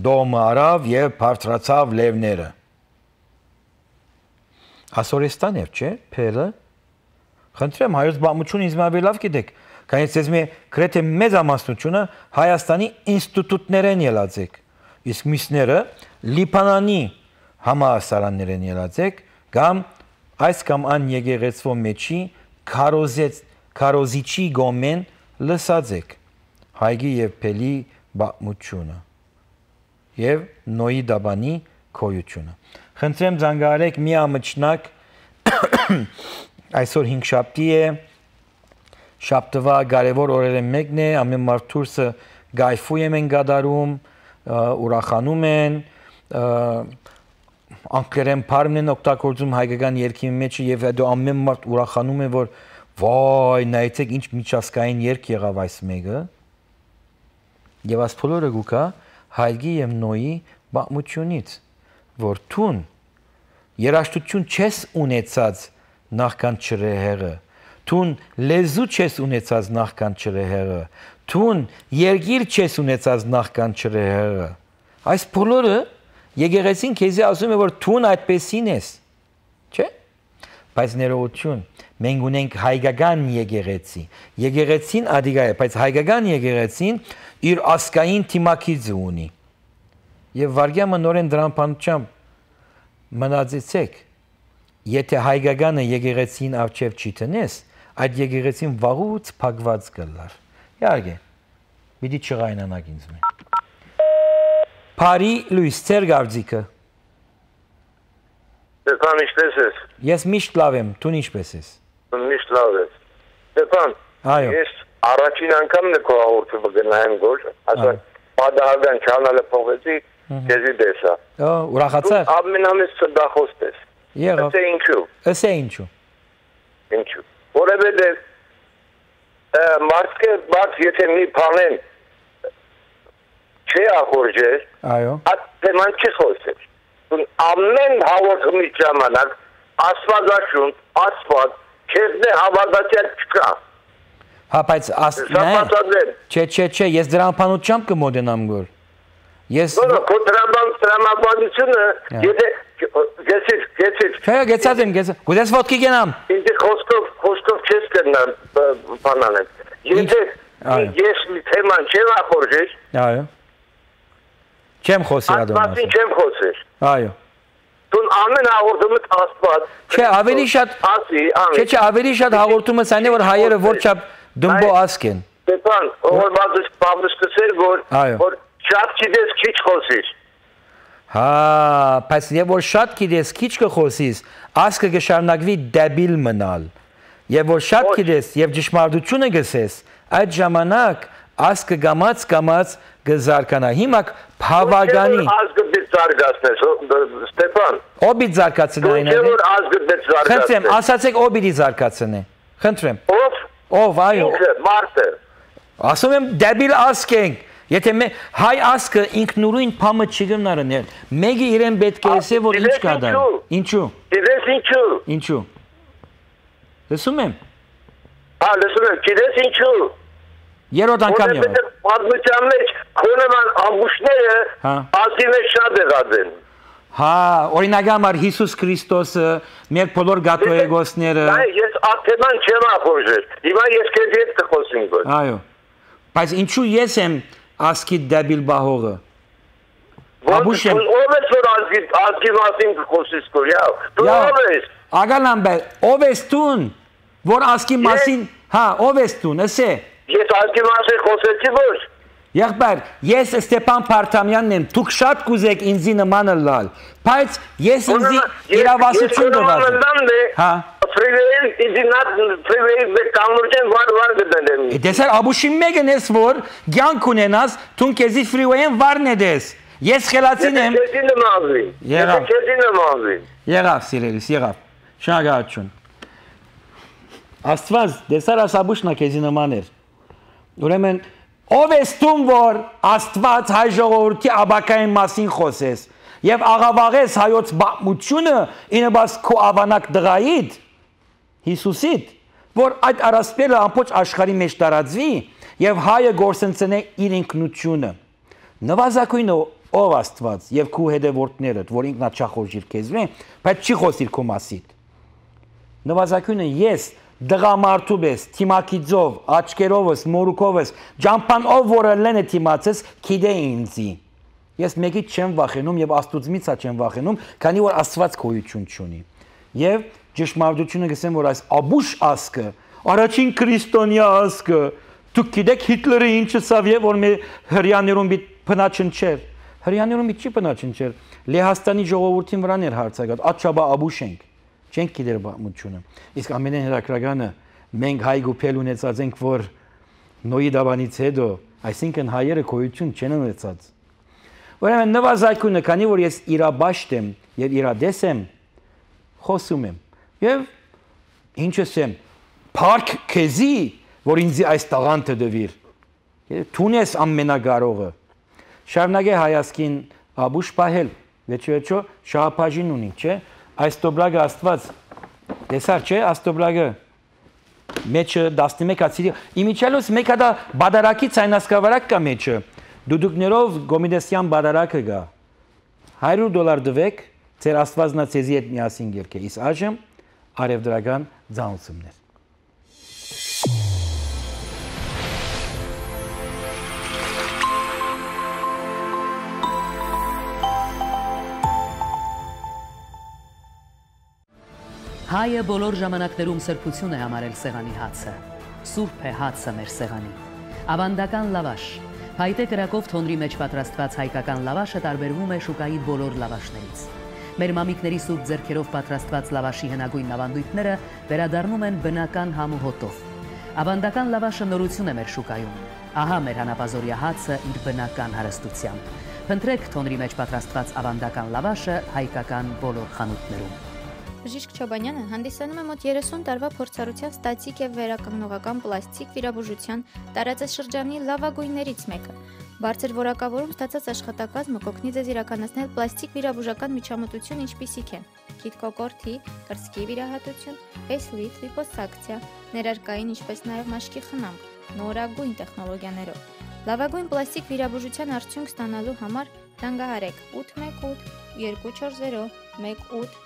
դոմը արավ եւ բարձրացավ լևները Ասորեստան էր չէ փելը Խնդրեմ հայոց բամուտյունը ինձ ավելի լավ գիտեք, քանի որ ես գրեթե մեծ ամասնությունը Հայաստանի ինստիտուտներեն ելած եք, իսկ մյուսները Լիբանանի համալսարաններեն ելած եք, կամ այս կամ այն եկեղեցվո մեջի քարոզիչի գոմեն լսած եք, հայգի եւ փելի բամուտյունը եւ նոյի դաբանի քոյությունը։ Խնդրեմ զանգահարեք մի ամճնակ Այսօր 5 շաբթի է, շաբթվա կարևոր օրերը մեկն է, ամեն մարդուրսը գայֆույեմ են գադարում, ուրախանում են, անկերեն պարմն են օգտագործում հայկական երգի մեջը եւ հետո ամեն մարդ ուրախանում է, որ վայ, նայեցեք ինչ միջազգային երգ եղավ այս մեկը։ Եվ այս բոլորը գուկա հայգի եւ նոյի բամուտյունից, որ տուն երաշտություն չես ունեցած նախքան չրեհեղը, տուն լեզու չես ունեցած նախքան չրեհեղը, տուն երգիր չես ունեցած նախքան չրեհեղը։ Այս բոլորը եկեղեցին քեզի ասում է, որ տուն այդպեսին ես, չէ՞։ Բայց ներողություն, մենք ունենք հայկական եկեղեցի։ Եկեղեցին ադիգա է, բայց հայկական եկեղեցին իր ասկային թիմակիցը ունի։ Եվ վարգյամը նորեն դրան բանությամբ մնացեցեք Եթե հայկականը եկեղեցին արջև չի տնես, այդ եկեղեցին վաղուց փակված կլար։ Իհարկե, պիտի չղայնանաք ինձ մե։ Փարի Լուիս, ծեր գարձիկը։ Ստեփան, ինչպես ես։ Ես միշտ լավ եմ, դու ինչպես ես։ Միշտ լավ ես։ Ստեփան, ես առաջին անգամն է քո հաղորդումը գնայեմ գոր, ասա պատահական չանալը փողեցի, քեզի տեսա։ Ուրախացա։ Ամենամեծ սրդախոստ ես։ Եղավ։ Ըսե ինչու։ Ըսե ինչու։ Ինչու։ Որովհետև մարդկը բաց եթե մի բանեն չի ախորժեր, այո։ Այդ թեման չի խոսել։ Ամեն հաղորդումի ժամանակ աստվածաշուն, աստված քեզ հավատացյալ չկա։ Հա, բայց չէ, ես դրան բանությամբ կմոտենամ գոր։ Ես քո տրամաբանությունը եթե գեցից Չէ, գեցած եմ, գուցես ոտքի գնամ։ Ինձ խոսքով չես կնամ բանանեն։ Եթե ես մի թեման չեմ ախորժել, այո։ Չեմ խոսի ադոնաս։ Աստվածին չեմ խոսել։ Այո։ Դու ամեն հաղորդումը Աստված։ Չէ, ավելի շատ Չէ, ավելի շատ հաղորդումը ցայնե որ հայերը որչափ դմբո ասկ են։ Ստեփան, որ բավարար սկսել որ շատ գիտես քիչ խոսիր։ Հա, բայց եւ որ շատ գիտես քիչ կխոսիս, ասկը կշարունակվի դեբիլ մնալ։ Եվ որ շատ գիտես եւ ճշմարտությունը գսես, այդ ժամանակ ասկը գամած կզարկանա։ Հիմա բավականի։ Ասկը զարգացնես, Ստեփան։ Օբիդ զարգացնի այն է։ Որ ազգը դες զարգացնի։ Խնդրեմ, ասացեք օբիդի զարգացնի։ Խնդրեմ։ Ով։ Ով, այո։ Մարտը։ Ասում եմ դեբիլ ազգ ենք։ Եթե հայ ազգը ինքնուրույն փամը չի գնարնել, մեկը իրեն պետք է ասի, որ ինչ կա դա։ Ինչու։ Գիտես ինչու։ Ինչու։ Լսում եմ։ Լսում եմ, գիտես ինչու։ Երրորդ անգամ եղավ։ Պատմության մեջ քոնեման ամբուշները ազգի մեջ շատ եղած են։ Հա, օրինակամար Հիսուս Քրիստոսը, մեր բոլոր գաթողիկոսները։ Ես աթեման չեմ ապօրժել։ Հիմա ես քեզ հետ կխոսեմ ոչ։ Այո։ Բայց ինչու ես եմ ազգի դեբիլ բահողը։ Ո՞վ ես որ ազգի մասին կխոսես կորյա։ Դու ո՞վ ես։ Ագալամբե, ով ես տուն, որ ազգի մասին, հա, ով ես տուն, ասե։ Ես ազգի մասին խոսեցի ոչ։ Եղբայր, ես Ստեփան Փարթամյանն եմ, դուք շատ կուզեք ինձի նմանը լալ, բայց ես ինձի իրավասություն դվազեմ։ Հա։ Դեսար աբուշի մեկն ես, որ գյանք ունենաս, թուն կեզի ֆրիվեյեն վարն է դես։ Ես խելացին եմ։ Եղավ, սիրելիս, եղավ։ Շնորհակալություն։ Աստված, դեսար աս աբուշնա կեզի նման էր։ Ուրեմն ով ես տուն, որ Աստված հայ ժողովրդի աբակային մասին խոսես եւ աղավաղես հայոց բամությունը ինebas քո ավանակ դղայիդ Հիսուսիդ, որ այդ առասպելը ամբողջ աշխարհի մեջ տարածվի եւ հայը գործընծնե իր ինքնությունը։ Նվազագույնը ով Աստված եւ քո հետևորդներդ, որ ինքնաչախորժիր քեզվեն, բայց չի խոսիր քո մասիդ։ Նվազագույնը ես դղամարդու ես, թիմակիձով, աչկերովս, մորուքովս, ջամփանով որը լենը թիմացես, քիդե ինձի։ Ես մեկից չեմ վախենում եւ Աստուծմից չեմ վախենում, քանի որ Աստված գոյություն չունի։ Եվ ճշմարտությունը գսեմ, որ այս աբուշ ազգը, առաջին քրիստոնյա ազգը, դուք գիտեք Հիտլերը ինչը սավ եւ որ մեր հрьяաներում մի փնաչնչեր։ Հрьяաներում մի չի փնաչնչեր։ Լեհաստանի ժողովրդին վրան էր հարցակած, աչաբա աբուշ ենք։ Չենք գիտեր բամությունը։ Իսկ ամենեն հրակրականը մենք հայ գուփել ունեցած ենք, որ նոյի դավանից հետո, այսինքն հայերը գոյություն չեն ունեցած։ Ուրեմն նվազագույնը, քանի որ ես իրաբաշտ եմ եւ իրադես եմ, խոսում եմ։ Եվ ինչ ասեմ, փառք քեզի, որ ինձ այս տաղանդը դվիր։ Թունես ամենակարողը։ Շարունակե հայասկին աբուշ պահել, վերջո շահապաժին ունի, չէ՞։ Այս տոբրագը Աստված, տեսար չէ, աստոբրագը, մեջը 11 ացիրի, իմիջալոս մեկ հատա բադարակի ցայնասկավարակ կա մեջը, դուդուկներով գոմիդեսյան բադարակը գա, $100 դվեք, ձեր Աստվածնա ցեզի հետ միասին գերք է, իսկ այժմ արևդրական ձանուցումներ։ Հայը բոլոր ժամանակներում սրբություն է համարել սեղանի հացը։ Սուրբ է հացը մեր սեղանի։ Ավանդական լավաշ։ Փայտե կրակով թոնրի մեջ պատրաստված հայկական լավաշը տարբերվում է շուկայի բոլոր լավաշներից։ Մեր մամիկների սուրբ ձեռքերով պատրաստված լավաշի հնագույն ավանդույթները վերադառնում են բնական համ ու հոտով։ Ավանդական լավաշը նորություն է մեր շուկայում։ Ահա մեր հանապազորյա հացը իր բնական հարստությամբ։ Փնտրեք թոնրի մեջ պատրաստված ավանդական լավաշը հայկական բոլոր խանութներում։ Բժիշկ Չոբանյանը հանդիսանում է մոտ 30 տարվա փորձառությամբ ստատիկ եւ վերականգնողական պլաստիկ վիրաբուժության տարածաշրջանի լավագույններից մեկը։ Բարձր որակավորում ստացած աշխատակազմը կօգնի ձեզ իրականացնել պլաստիկ վիրաբուժական միջամտություն, ինչպիսիք են քիթկոկորթի, կրծքի վիրահատություն, ֆեյսլիֆտ, լիպոսակցիա, ներարկային, ինչպես նաեւ մաշկի խնամք, նորագույն տեխնոլոգիաներով։ Լավագույն պլաստիկ վիրաբուժության արդյունք ստանալու համար զանգահարեք 818 240 1820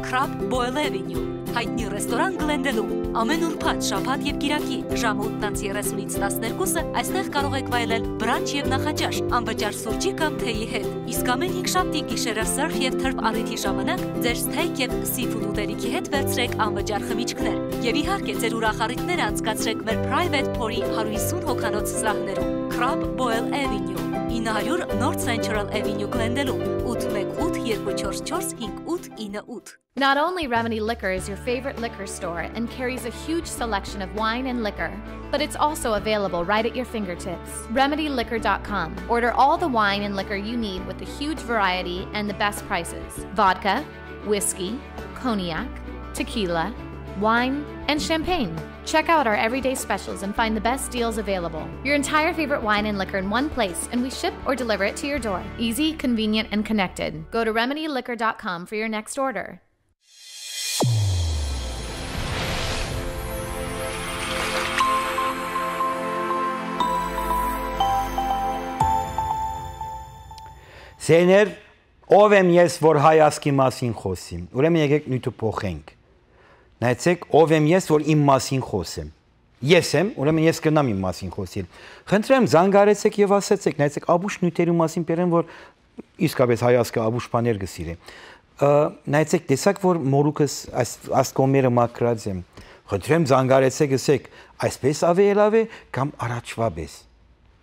Crab Boil Avenue, հայտնի ռեստորան Գլենդելում, ամեն ուրբաթ, շաբաթ եւ կիրակի, ժամը 8:30-ից 12-ը այստեղ կարող եք վայելել բրանչ եւ նախաճաշ, անվճար սուրճի կամ թեյի հետ։ Իսկ ամեն 5 շաբթի գիշերը սերֆ եւ թրբ առիթի ժամանակ ձեր սթեյք եւ սիֆուդ ուտելիքի հետ վերցրեք անվճար խմիչքներ։ Եվ իհարկե ձեր ուրախ առիթները անցկացրեք մեր private pour-ի 150 հոգանոց սրահներում։ Crab Boil Avenue, 9 900 North Central Avenue Glendale-ում 818-244-5898 Not only Remedy Liquor is your favorite liquor store and carries a huge selection of wine and liquor, but it's also available right at your fingertips. RemedyLiquor.com. Order all the wine and liquor you need with a huge variety and the best prices. Vodka, whiskey, cognac, tequila, wine, and champagne. Check out our everyday specials and find the best deals available. Your entire favorite wine and liquor in one place, and we ship or deliver it to your door. Easy, convenient, and connected. Go to RemedyLiquor.com for your next order. Սեներ, ով եմ ես, որ հայացքի մասին խոսիմ, ուրեմն եկեք նույնը փոխենք, նայեցեք, ով եմ ես, որ իմ մասին խոսեմ, ես եմ, ուրեմն ես կնամ իմ մասին խոսիլ, խնդրեմ զանգարեցեք և ասեցեք, նայեցեք, աբուշ նույթերու մասին պերեն, որ իսկապես հայացքը աբուշ պաներ գսիր է, նայեցեք, տեսակ, որ մորուքս աստկոմերը մակրած եմ, խնդրեմ զանգարեցեք, ասեք, այսպես ավելավ է, կամ առաջվա պես,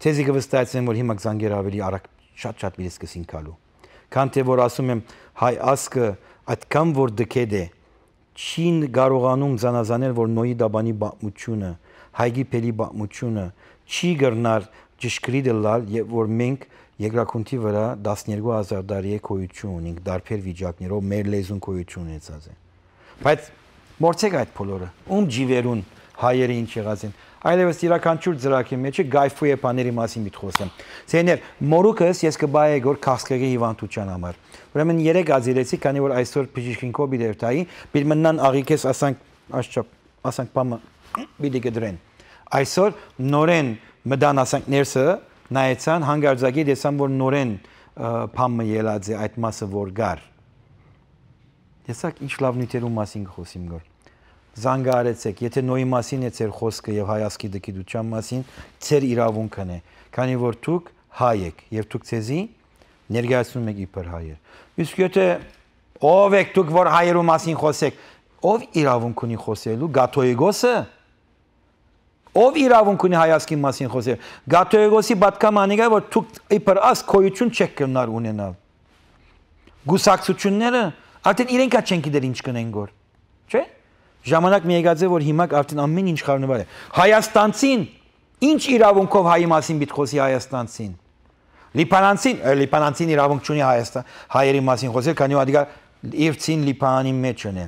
ցեզի կվստահեցնեմ, որ հիմա զանգեր ավելի արագ շատ միրես կսին կալու, քան թե որ ասում եմ հայ ասկը այդքան որ դքեդ է, չին կարողանում զանազանել, որ նոյի դաբանի բամությունը, հայգի պելի բամությունը, չի գրնար ճշգրիտ լալ, որ մենք երկրակունթի վրա 12,000 տարի է կոյություն ունենք, դարբեր վիճակներով մեր լեզուն կոյություն ունեցած է, բայց մորցեք այդ բոլորը, ջիվերուն հայերը ինչ եղած են, այլևս իրականչուր ծրակի մեջը գայֆու է բաների մասին միտ խոսեմ։ Սեներ, մորուքս ես կբայե գոր քաղցկեղի հիվանդության համար։ Ուրեմն 3 ազիրեցի, քանի որ այսօր բժիշկինքով բիդերտայի, բիլմնան աղիքես ասանք պամը բիդի կդրեն։ Այսօր նորեն մդան ասանք ներսը նայեցան հանգարձակի դեսան, որ նորեն պամը ելած է այդ մասը որ գար։ Տեսակ ինչ լավ նույթերու մասին կխոսիմ գոր։ Զանգարեցեք, եթե նոյի մասին է ծեր խոսքը և հայացքի դկիդության մասին, ծեր իրավունքն է, քանի որ դուք հայ եք, և դուք ծեզի ներկայացնում եք իբր հայեր։ Իսկ եթե ով եք դուք, որ հայերու մասին խոսեք, ով իրավունք ունի խոսելու, Գաթոյգոսը, ով իրավունք ունի հայացքի մասին խոսել, Գաթոյգոսի պատկամանիք է, որ դուք իբր աս քոյություն չեք կնար ունենալ։ Գուսակցությունները, արդեն իրենքա չեն գիտեր ինչ կնեն գոր, չէ՞։ Ժամանակ մի եկած է, որ հիմա արդեն ամեն ինչ խառնվել է։ Հայաստանցին, ինչ իրավունքով հայի մասին պիտի խոսի հայաստանցին։ Լիբանանցին իրավունք չունի հայերի մասին խոսել, քանի որ իր ցին Լիբանանի մեջն է։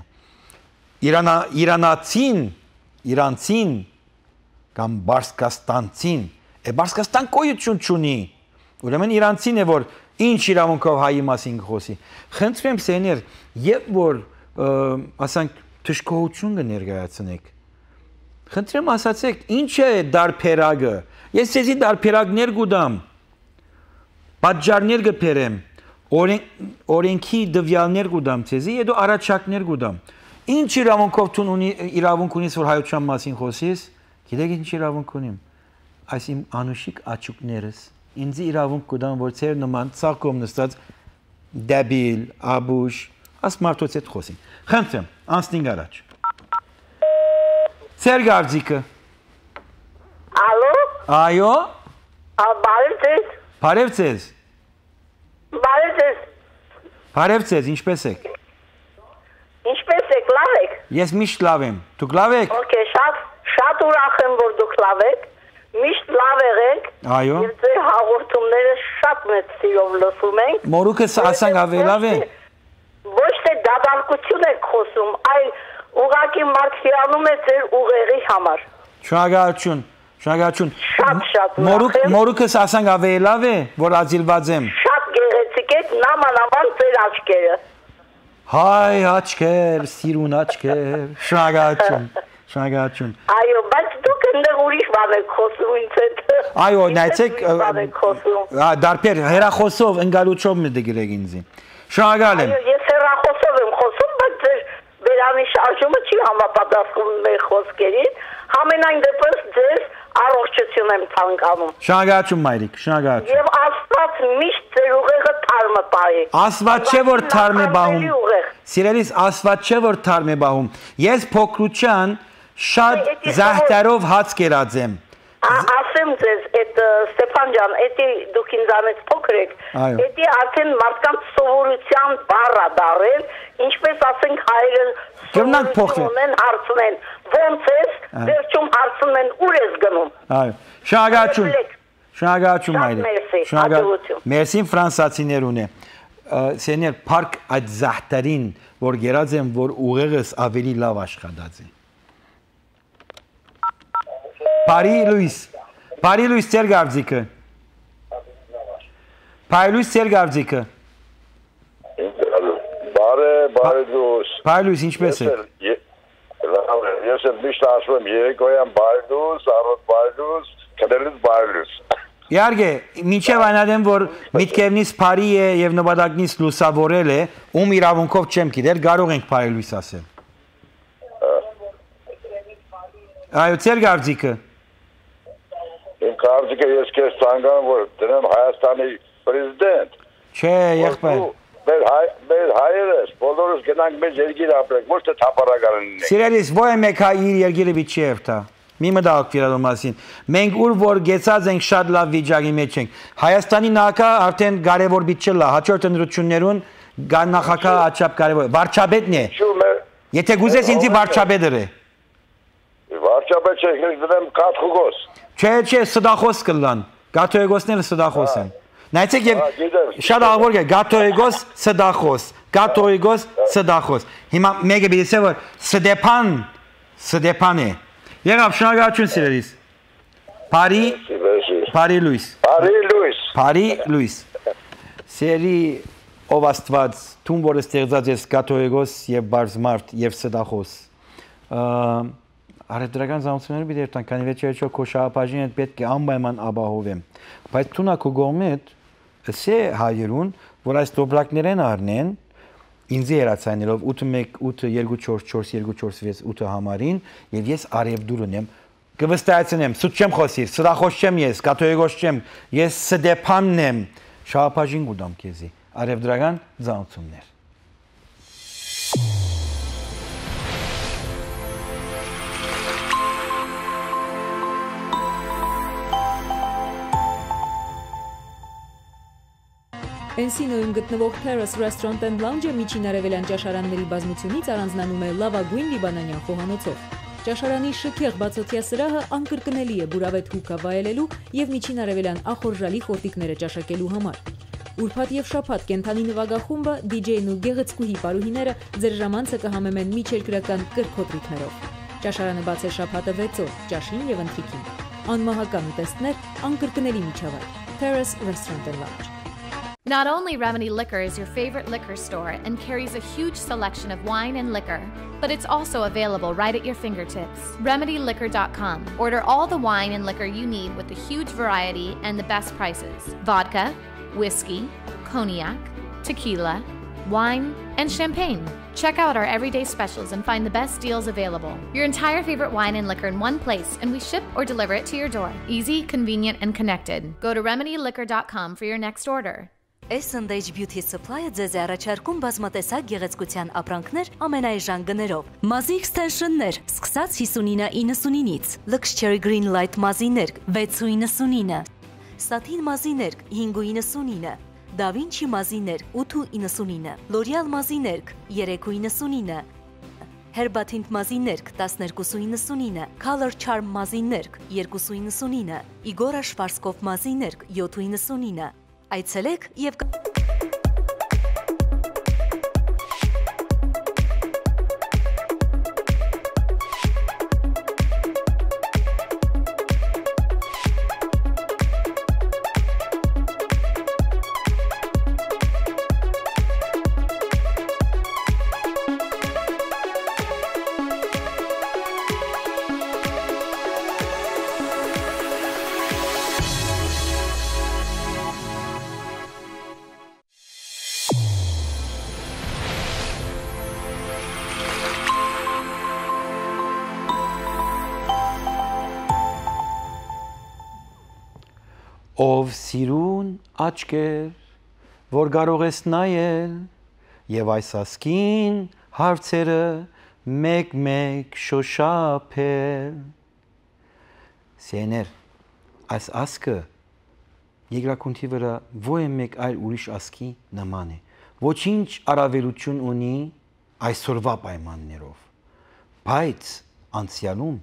Իրանցին կամ Բարսկաստանցին, Բարսկաստան գոյություն չունի։ Ուրեմն իրանցին է, որ ինչ իրավունքով հայի մասին խոսի։ Խնդրեմ սեներ, երբ որ ասանք թշկողություն կներկայացնեք։ Խնդրեմ ասացեք, ինչ է դարբերագը։ Ես ձեզի դարբերագներ կուտամ, պատճառներ կբերեմ, օրենքի դվյալներ կուտամ ձեզի, հետո առաջարկներ կուտամ։ Ինչ իրավունքով իրավունք ունիս, որ հայության մասին խոսիս, գիտեք ինչ իրավունք ունիմ։ Այս իմ անուշիկ աչուկներս, ինձ իրավունք կուտամ, որ ձեր նման ծաղկում նստած դեբիլ, աբուշ, աս մարդոց հետ խոսին։ Խնդրեմ, անցնենք առաջ։ Ձեր գարձիկը։ Ալո։ Այո։ Բարև ձեզ։ Բարև ձեզ։ Բարև ձեզ։ Բարև ձեզ, ինչպես եք։ Ինչպես եք, լավ եք։ Ես միշտ լավ եմ։ Դուք լավ եք։ Okay, շատ ուրախ եմ, որ դուք լավ եք։ Միշտ լավ եղեք։ Այո։ Եվ ձեր հաղորդումները շատ մեծ սիրով լսում ենք։ Մորուքս ասանք ավելավ է։ Ոչ թե դատարկություն եք խոսում, այլ ուղղակի մարդ հիանում է ձեր ուղեղի համար։ Շնորհակալություն, շնորհակալություն։ Շատ ուրախ եմ։ Մորուքս ասանք ավելավ է, որ ազիլված եմ։ Շատ գեղեցիկ եք, նամանավան ձեր աչքերը։ Հայ աչքեր, սիրուն աչքեր, շնորհակալություն, շնորհակալություն։ Այո, բայց դուք այնտեղ ուրիշ բան եք խոսում ինձ հետ։ Այո, նայեցեք, դարբեր հեռախոսով ընկալուչով մտգրեք ինձի։ Շնորհակալ եմ։ Այո, ես հեռախոսով եմ խոսում, բայց ձեր բերանի շարժումը չի համապատասխանում մեր խոսքերին։ Համենայն դեպս ձեզ առողջություն եմ ցանկանում։ Շնորհակալություն մայրիկ, շնորհակալություն։ Եվ Աստված միշտ ձեր ուղեղը թարմը պահի։ Աստված չէ որ թարմ է բահում։ Սիրելիս, Աստված չէ որ թարմ է բահում։ Ես փոքրության շատ զահտարով հաց կերած եմ։ ասեմ ձեզ, այդ Ստեփան ջան, էդի դուք ինձանից փոքր եք, էդի արդեն մարդկանց սովորության բառ է դարել, ինչպես ասենք հայերը սովորություն ունեն հարցնեն, ոնց ես, վերջում հարցնում են ուր ես գնում։ Այո, շնորհակալություն մայրիկ։ Մերսի ֆրանսացիներուն է։ Սեներ парք այդ զահտարին, որ գերած են, որ ուղեղս ավելի լավ աշխատած է։ Բարի լույս ծեր գարձիկը։ Բարի լույս ծեր գարձիկը։ Բարի լույս։ Բարի լույս, ինչպես է։ Ես եմ միշտ ասում եմ երեկոյան բարի լույս, առօր բարի լույս, քնելուց բարի լույս։ Իհարկե, մինչև այնադեմ, որ միտքևնից բարի է եւ նպատակնից լուսավորել է, ում իրավունքով չեմ գիտեր, կարող ենք բարի լույս ասել։ Այո, ծեր գարձիկը։ Իմ կարծիքը ես քեզ ցանկանում որ դնեմ Հայաստանի պրեզիդենտ։ Չէ, եղբայր։ Մեր հայերս բոլորս գնանք մեր երկիր ապրենք, ոչ թե թափառական լինենք։ Սիրելիս, ո՞յ է մեկ հայ իր երկիրը պիտի երթա։ Մի մտածեք իրար մասին։ Մենք ուր որ գեցած ենք շատ լավ վիճակի մեջ ենք։ Հայաստանի նախագահ արդեն կարևոր բիճ չլա, հաջորդ ընտրություններուն նախագահ աչափ կարևոր։ Վարչապետն է։ Եթե գուզես ինձի վարչապետը։ Վարչապետ չէ, ես դրեմ Կաթխուգոս։ Չէ, սդախոս կլան։ Գաթոեգոսները սդախոս են։ Նայեցեք եւ շատ աղբոր է Գաթոեգոս սդախոս։ Հիմա մեկը բիցե որ Ստեփան է։ Եղավ շնորհակալություն սիրելիս։ Բարի լույս։ Սերի ով Աստված, թուն որ ստեղծած ես Գաթոեգոս եւ Բարզմարտ եւ Ստախոս։ Արևդրական զամությունները պիտի երթան, քանի վերջերիչով քո շահապաժին հետ պետք է անպայման ապահովեմ։ Բայց թունա քո գոմետ սե հայերուն, որ այս դոբրակներեն առնեն, ինձի երացայնելով 8-1-8-2-4-4-2-4-6 համարին եւ ես արևդուրն եմ կվստահեցնեմ, սուտ չեմ խոսիր, սրախոս չեմ ես, կաթոյգոս չեմ, ես Ստեփանն եմ, շահապաժին գուդամ քեզի, արևդրական զամություններ։ Էնսինոյում գտնվող Terrace Restaurant and Lounge-ը միջին արևելյան ճաշարանների բազմությունից առանձնանում է լավագույն լիբանանյան խոհանոցով։ Ճաշարանի շքեղ բացօթյա սրահը անկրկնելի է բուրավետ հուկա վայելելու եւ միջին արևելյան ախորժալի խորտիկները ճաշակելու համար։ Ուրբաթ եւ շաբաթ կենթանի նվագախումբը, DJ-ն ու գեղեցկուհի պարուհիները ձեր ժամանցը կհամեմեն միջերկրական կրքոտրիկներով։ Ճաշարանը բաց է շաբաթը 6 օր, ճաշին եւ ընթրիքին։ Անմահական ուտեստներ, անկրկնելի միջավայր։ Terrace Restaurant and Lounge. Not only Remedy Liquor is your favorite liquor store and carries a huge selection of wine and liquor, but it's also available right at your fingertips. RemedyLiquor.com. Order all the wine and liquor you need with a huge variety and the best prices. Vodka, whiskey, cognac, tequila, wine, and champagne. Check out our everyday specials and find the best deals available. Your entire favorite wine and liquor in one place, and we ship or deliver it to your door. Easy, convenient, and connected. Go to RemedyLiquor.com for your next order. S&H Beauty Supply-ը ձեզ է առաջարկում բազմատեսակ գեղեցկության ապրանքներ ամենաէժան գներով։ Մազի extension-ներ, սկսած 59.99-ից, Luxury Green Light մազիներ 6.99, Satin մազիներ 5.99, Da Vinci մազիներ 8.99, L'Oreal մազիներ 3.99, Herbatint մազիներ 12.99, Color Charm մազիներ 2.99, Igor Schwarzkopf մազիներ 7.99 Այցելեք եւ Ով սիրուն աչքեր, որ կարող ես նայել, եւ այս ասկին հարցերը մեկ-մեկ շոշափել։ Սեներ, այս ասկը երկրակունքի վրա ոչ մեկ այլ ուրիշ ասկի նման է։ Ոչինչ առավելություն ունի այսօրվա պայմաններով։ Բայց անցյալում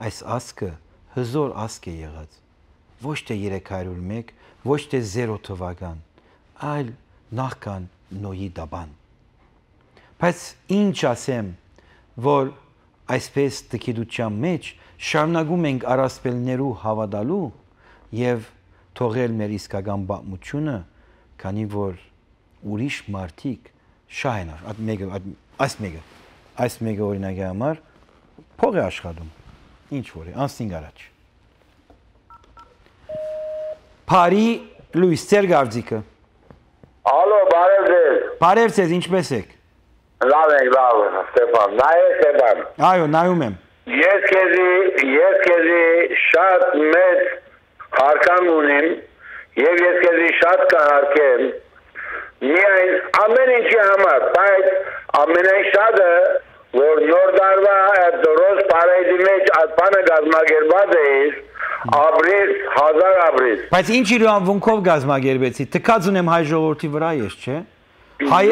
այս ասկը հզոր ասկ է եղած։ Ոչ թե 301, ոչ թե 0 թվական, այլ նախքան Նոյի դաբան։ Բայց ինչ ասեմ, որ այսպես տկիդության մեջ շարունակում ենք առասպելներու հավատալու եւ թողել մեր իսկական պատմությունը, քանի որ ուրիշ մարդիկ շահ են այս մեկը օրինակի համար փող է աշխատում, ինչ որ է, անցնենք առաջ։ Փարի Լուիս, ձեր գարձիկը։ Ալո, բարև ձեզ։ Բարև ձեզ, ինչպես եք։ Լավ ենք, լավ, Ստեփան, նայեք Ստեփան։ Այո, նայում եմ։ Ես քեզի շատ մեծ հարգանք ունեմ եւ ես քեզի շատ կհարգեմ միայն ամեն ինչի համար, բայց ամենայն շատը որ նոր դարվա դրոս բարեդի մեջ բանը գազմագերբած էիր ապրես 1000 ապրես։ Բայց ինչ իրավունքով գազմագերբեցի։ Թքած ունեմ հայ ժողովրդի վրա ես, չէ՞։ Հայ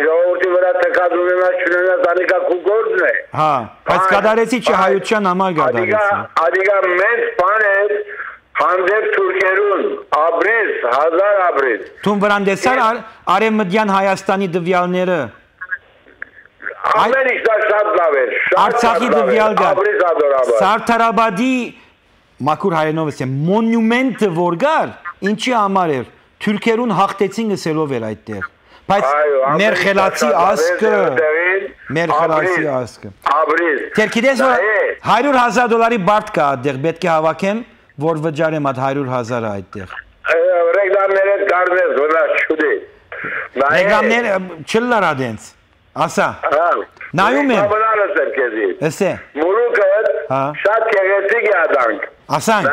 ժողովրդի վրա թքած ունենաս չունենաս անիկա քու գործն է։ Հա, բայց կդարեցի չէ հայության համար կդարեցի։ Ադիգա մեծ բան է հանդեպ թուրքերուն ապրես 1000 ապրես։ Թուն վրան դեսար արևմտյան Հայաստանի դվյալները։ Ամեն ինչ դա շատ լավ էր։ Արցախի դվյալ գար։ Սարդարաբադի մաքուր հայերենով ասեմ մոնումենտը որ գար, ինչի համար էր։ Թուրքերուն հաղթեցին գսելով էր այդտեղ։ Բայց մեր խելացի ասկը, մեր խելացի ասկը։ Ապրես։ Դեր գիտես որ $100,000 բարդ կա այդտեղ, պետք է հավաքեմ, որ վճարեմ այդ 100,000-ը այդտեղ։ Ռեկլամները դառնես որա շուտի։ Ռեկլամները չլարա դենց։ Ասա։ Նայում եմ։ Էսե։ Մուրուկը շատ գեղեցիկ է աданք։ Ասանք։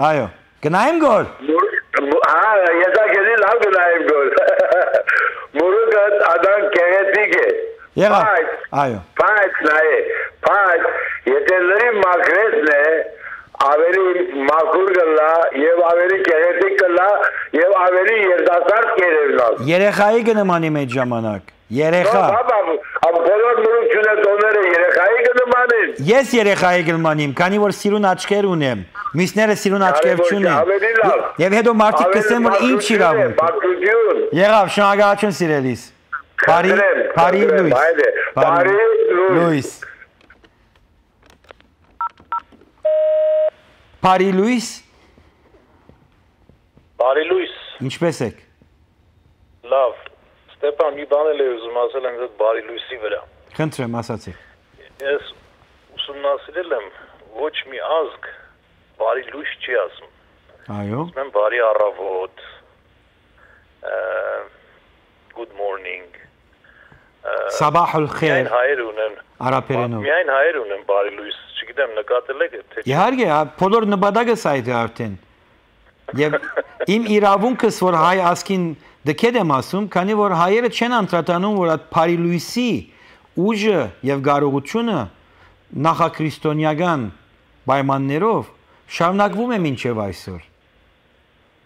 Այո։ Գնայեմ գոր։ Հա, ես ակելի լավ գնայեմ գոր։ Մուրուկը աданք գեղեցիկ է։ Եղավ։ Այո։ Բայց նայե, բայց եթե լրի մակրեսն է, ավելի մաքուր կլա եւ ավելի գեղեցիկ կլա եւ ավելի երդասարդ կերևնա։ Երեխայի կնմանի այդ ժամանակ։ Երեխա։ Բոլոր մուրուկչունը տոները երեխայի կնմանին։ Ես երեխայի կնմանիմ, քանի որ սիրուն աչքեր ունեմ։ Մյուսները սիրուն աչքեր չունեն։ Եվ հետո մարդիկ կսեն որ ինչ իրավունք։ Եղավ, շնորհակալություն սիրելիս։ Բարի Լուիս։ Բարի Լուիս։ Բարի Լուիս։ Բարի Լուիս։ Ինչպես եք։ Լավ։ Ստեփան, մի բան էլ ուզում ասել եմ այդ Բարի Լուիսի վրա։ Խնդրեմ, ասացեք։ Ես ուսումնասիրել եմ ոչ մի ազգ Բարի Լուիս չի ասում։ Այո։ Ասում բարի առավոտ, good morning։ Սաբահ ալ-խեյր։ Միայն հայեր ունեն։ Արաբերենով։ Միայն հայեր ունեն Բարի Լուիս, չգիտեմ նկատել եք թե։ Իհարկե, բոլոր նպատակս այդ է արդեն։ Եվ իմ իրավունքս որ հայ ասկին դքեդ եմ ասում, քանի որ հայերը չեն անդրադառնում, որ այդ Բարի Լուիսի ուժը եւ կարողությունը նախաքրիստոնեական պայմաններով շարունակվում է մինչև այսօր։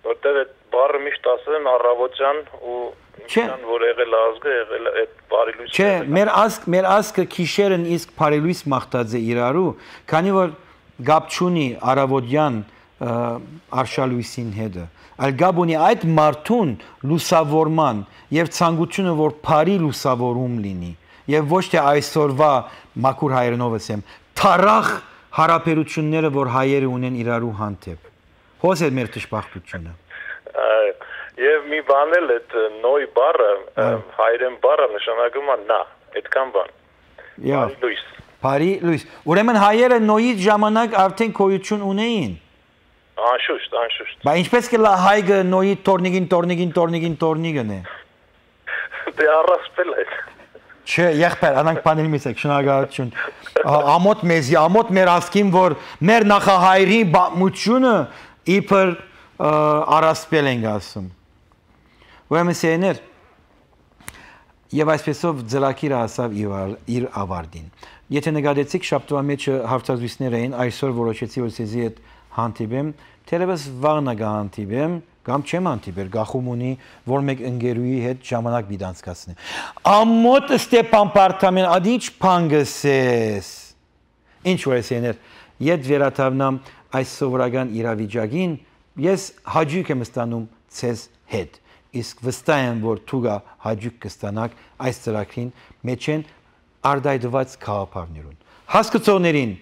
Որտեղ այդ բառը միշտ ասել են առավոտյան ու ինչքան որ եղել ազգը, եղել այդ Բարի Լուիսը։ Չէ, մեր ազգը քիշերն իսկ Բարի Լուիս մաղթած է իրարու, քանի որ գապ չունի առավոտյան արշալույսին հետը։ Այլ գապ ունի այդ մարդուն լուսավորման եւ ցանկությունը որ բարի լուսավորում լինի եւ ոչ թե այսօրվա մաքուր հայերենով ասեմ թարախ հարաբերությունները որ հայերը ունեն իրարու հանդեպ հոս է մեր դժբախտությունը եւ մի բան էլ այդ նոյ բառը հայերեն բառը նշանակում է նա այդքան բան Բարի Լուիս Բարի Լուիս ուրեմն հայերը նոյի ժամանակ արդեն գոյություն ունեին Անշուշտ Բայց ինչպես կլա հայգը նոյի տորնիգին է Դե առասպել է Չէ, եղբայր, անանք պանել մեզ եք, շնորհակալություն ամոթ մեզի, ամոթ մեր ասկին, որ մեր նախահայրի բամությունը իբր առասպել ենք ասում Ուրեմն սեներ Եվ այսպեսով ձլակիրը ասավ իր ավարտին Եթե նկատեցիք շաբթվա մեջը հարցազրույցներ էին, այսօր որոշեցի որ ցեզի հետ հանդիպեմ թերևս վաղնա գանտիբեմ կամ չեմ անտիբեր գախում ունի որ մեկ ընկերուի հետ ժամանակ մի դանցկացնի ամոթ Ստեփան Պարտամյան ադիչ փանգսես ինչ որ էսեներ իդ վերաթավնամ այս սովորական իրավիճակին ես հաջիկ եմ ստանում ցեզ հետ իսկ վստահ եմ որ դուք հաջիկ կստանաք այս ծրագրին մեջ են արդայդված քաղաքներուն հասկացողներին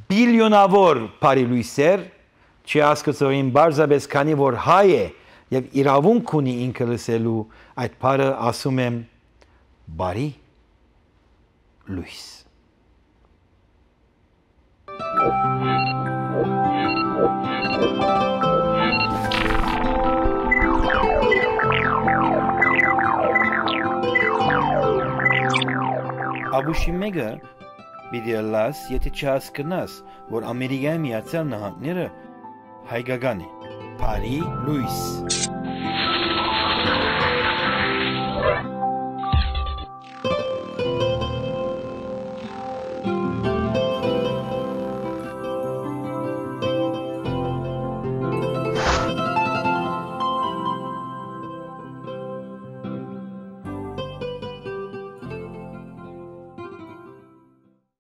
բիլիոնավոր բարի լույսեր չի հասկացողին բարձաբես քանի որ հայ է եւ իրավունք ունի ինքը լսելու այդ բառը ասում եմ բարի լույս Աբուշի մեգը պիտի լաս եթե չհասկնաս որ Ամերիկայի Միացյալ Նահանգները հայկական է բարի լույս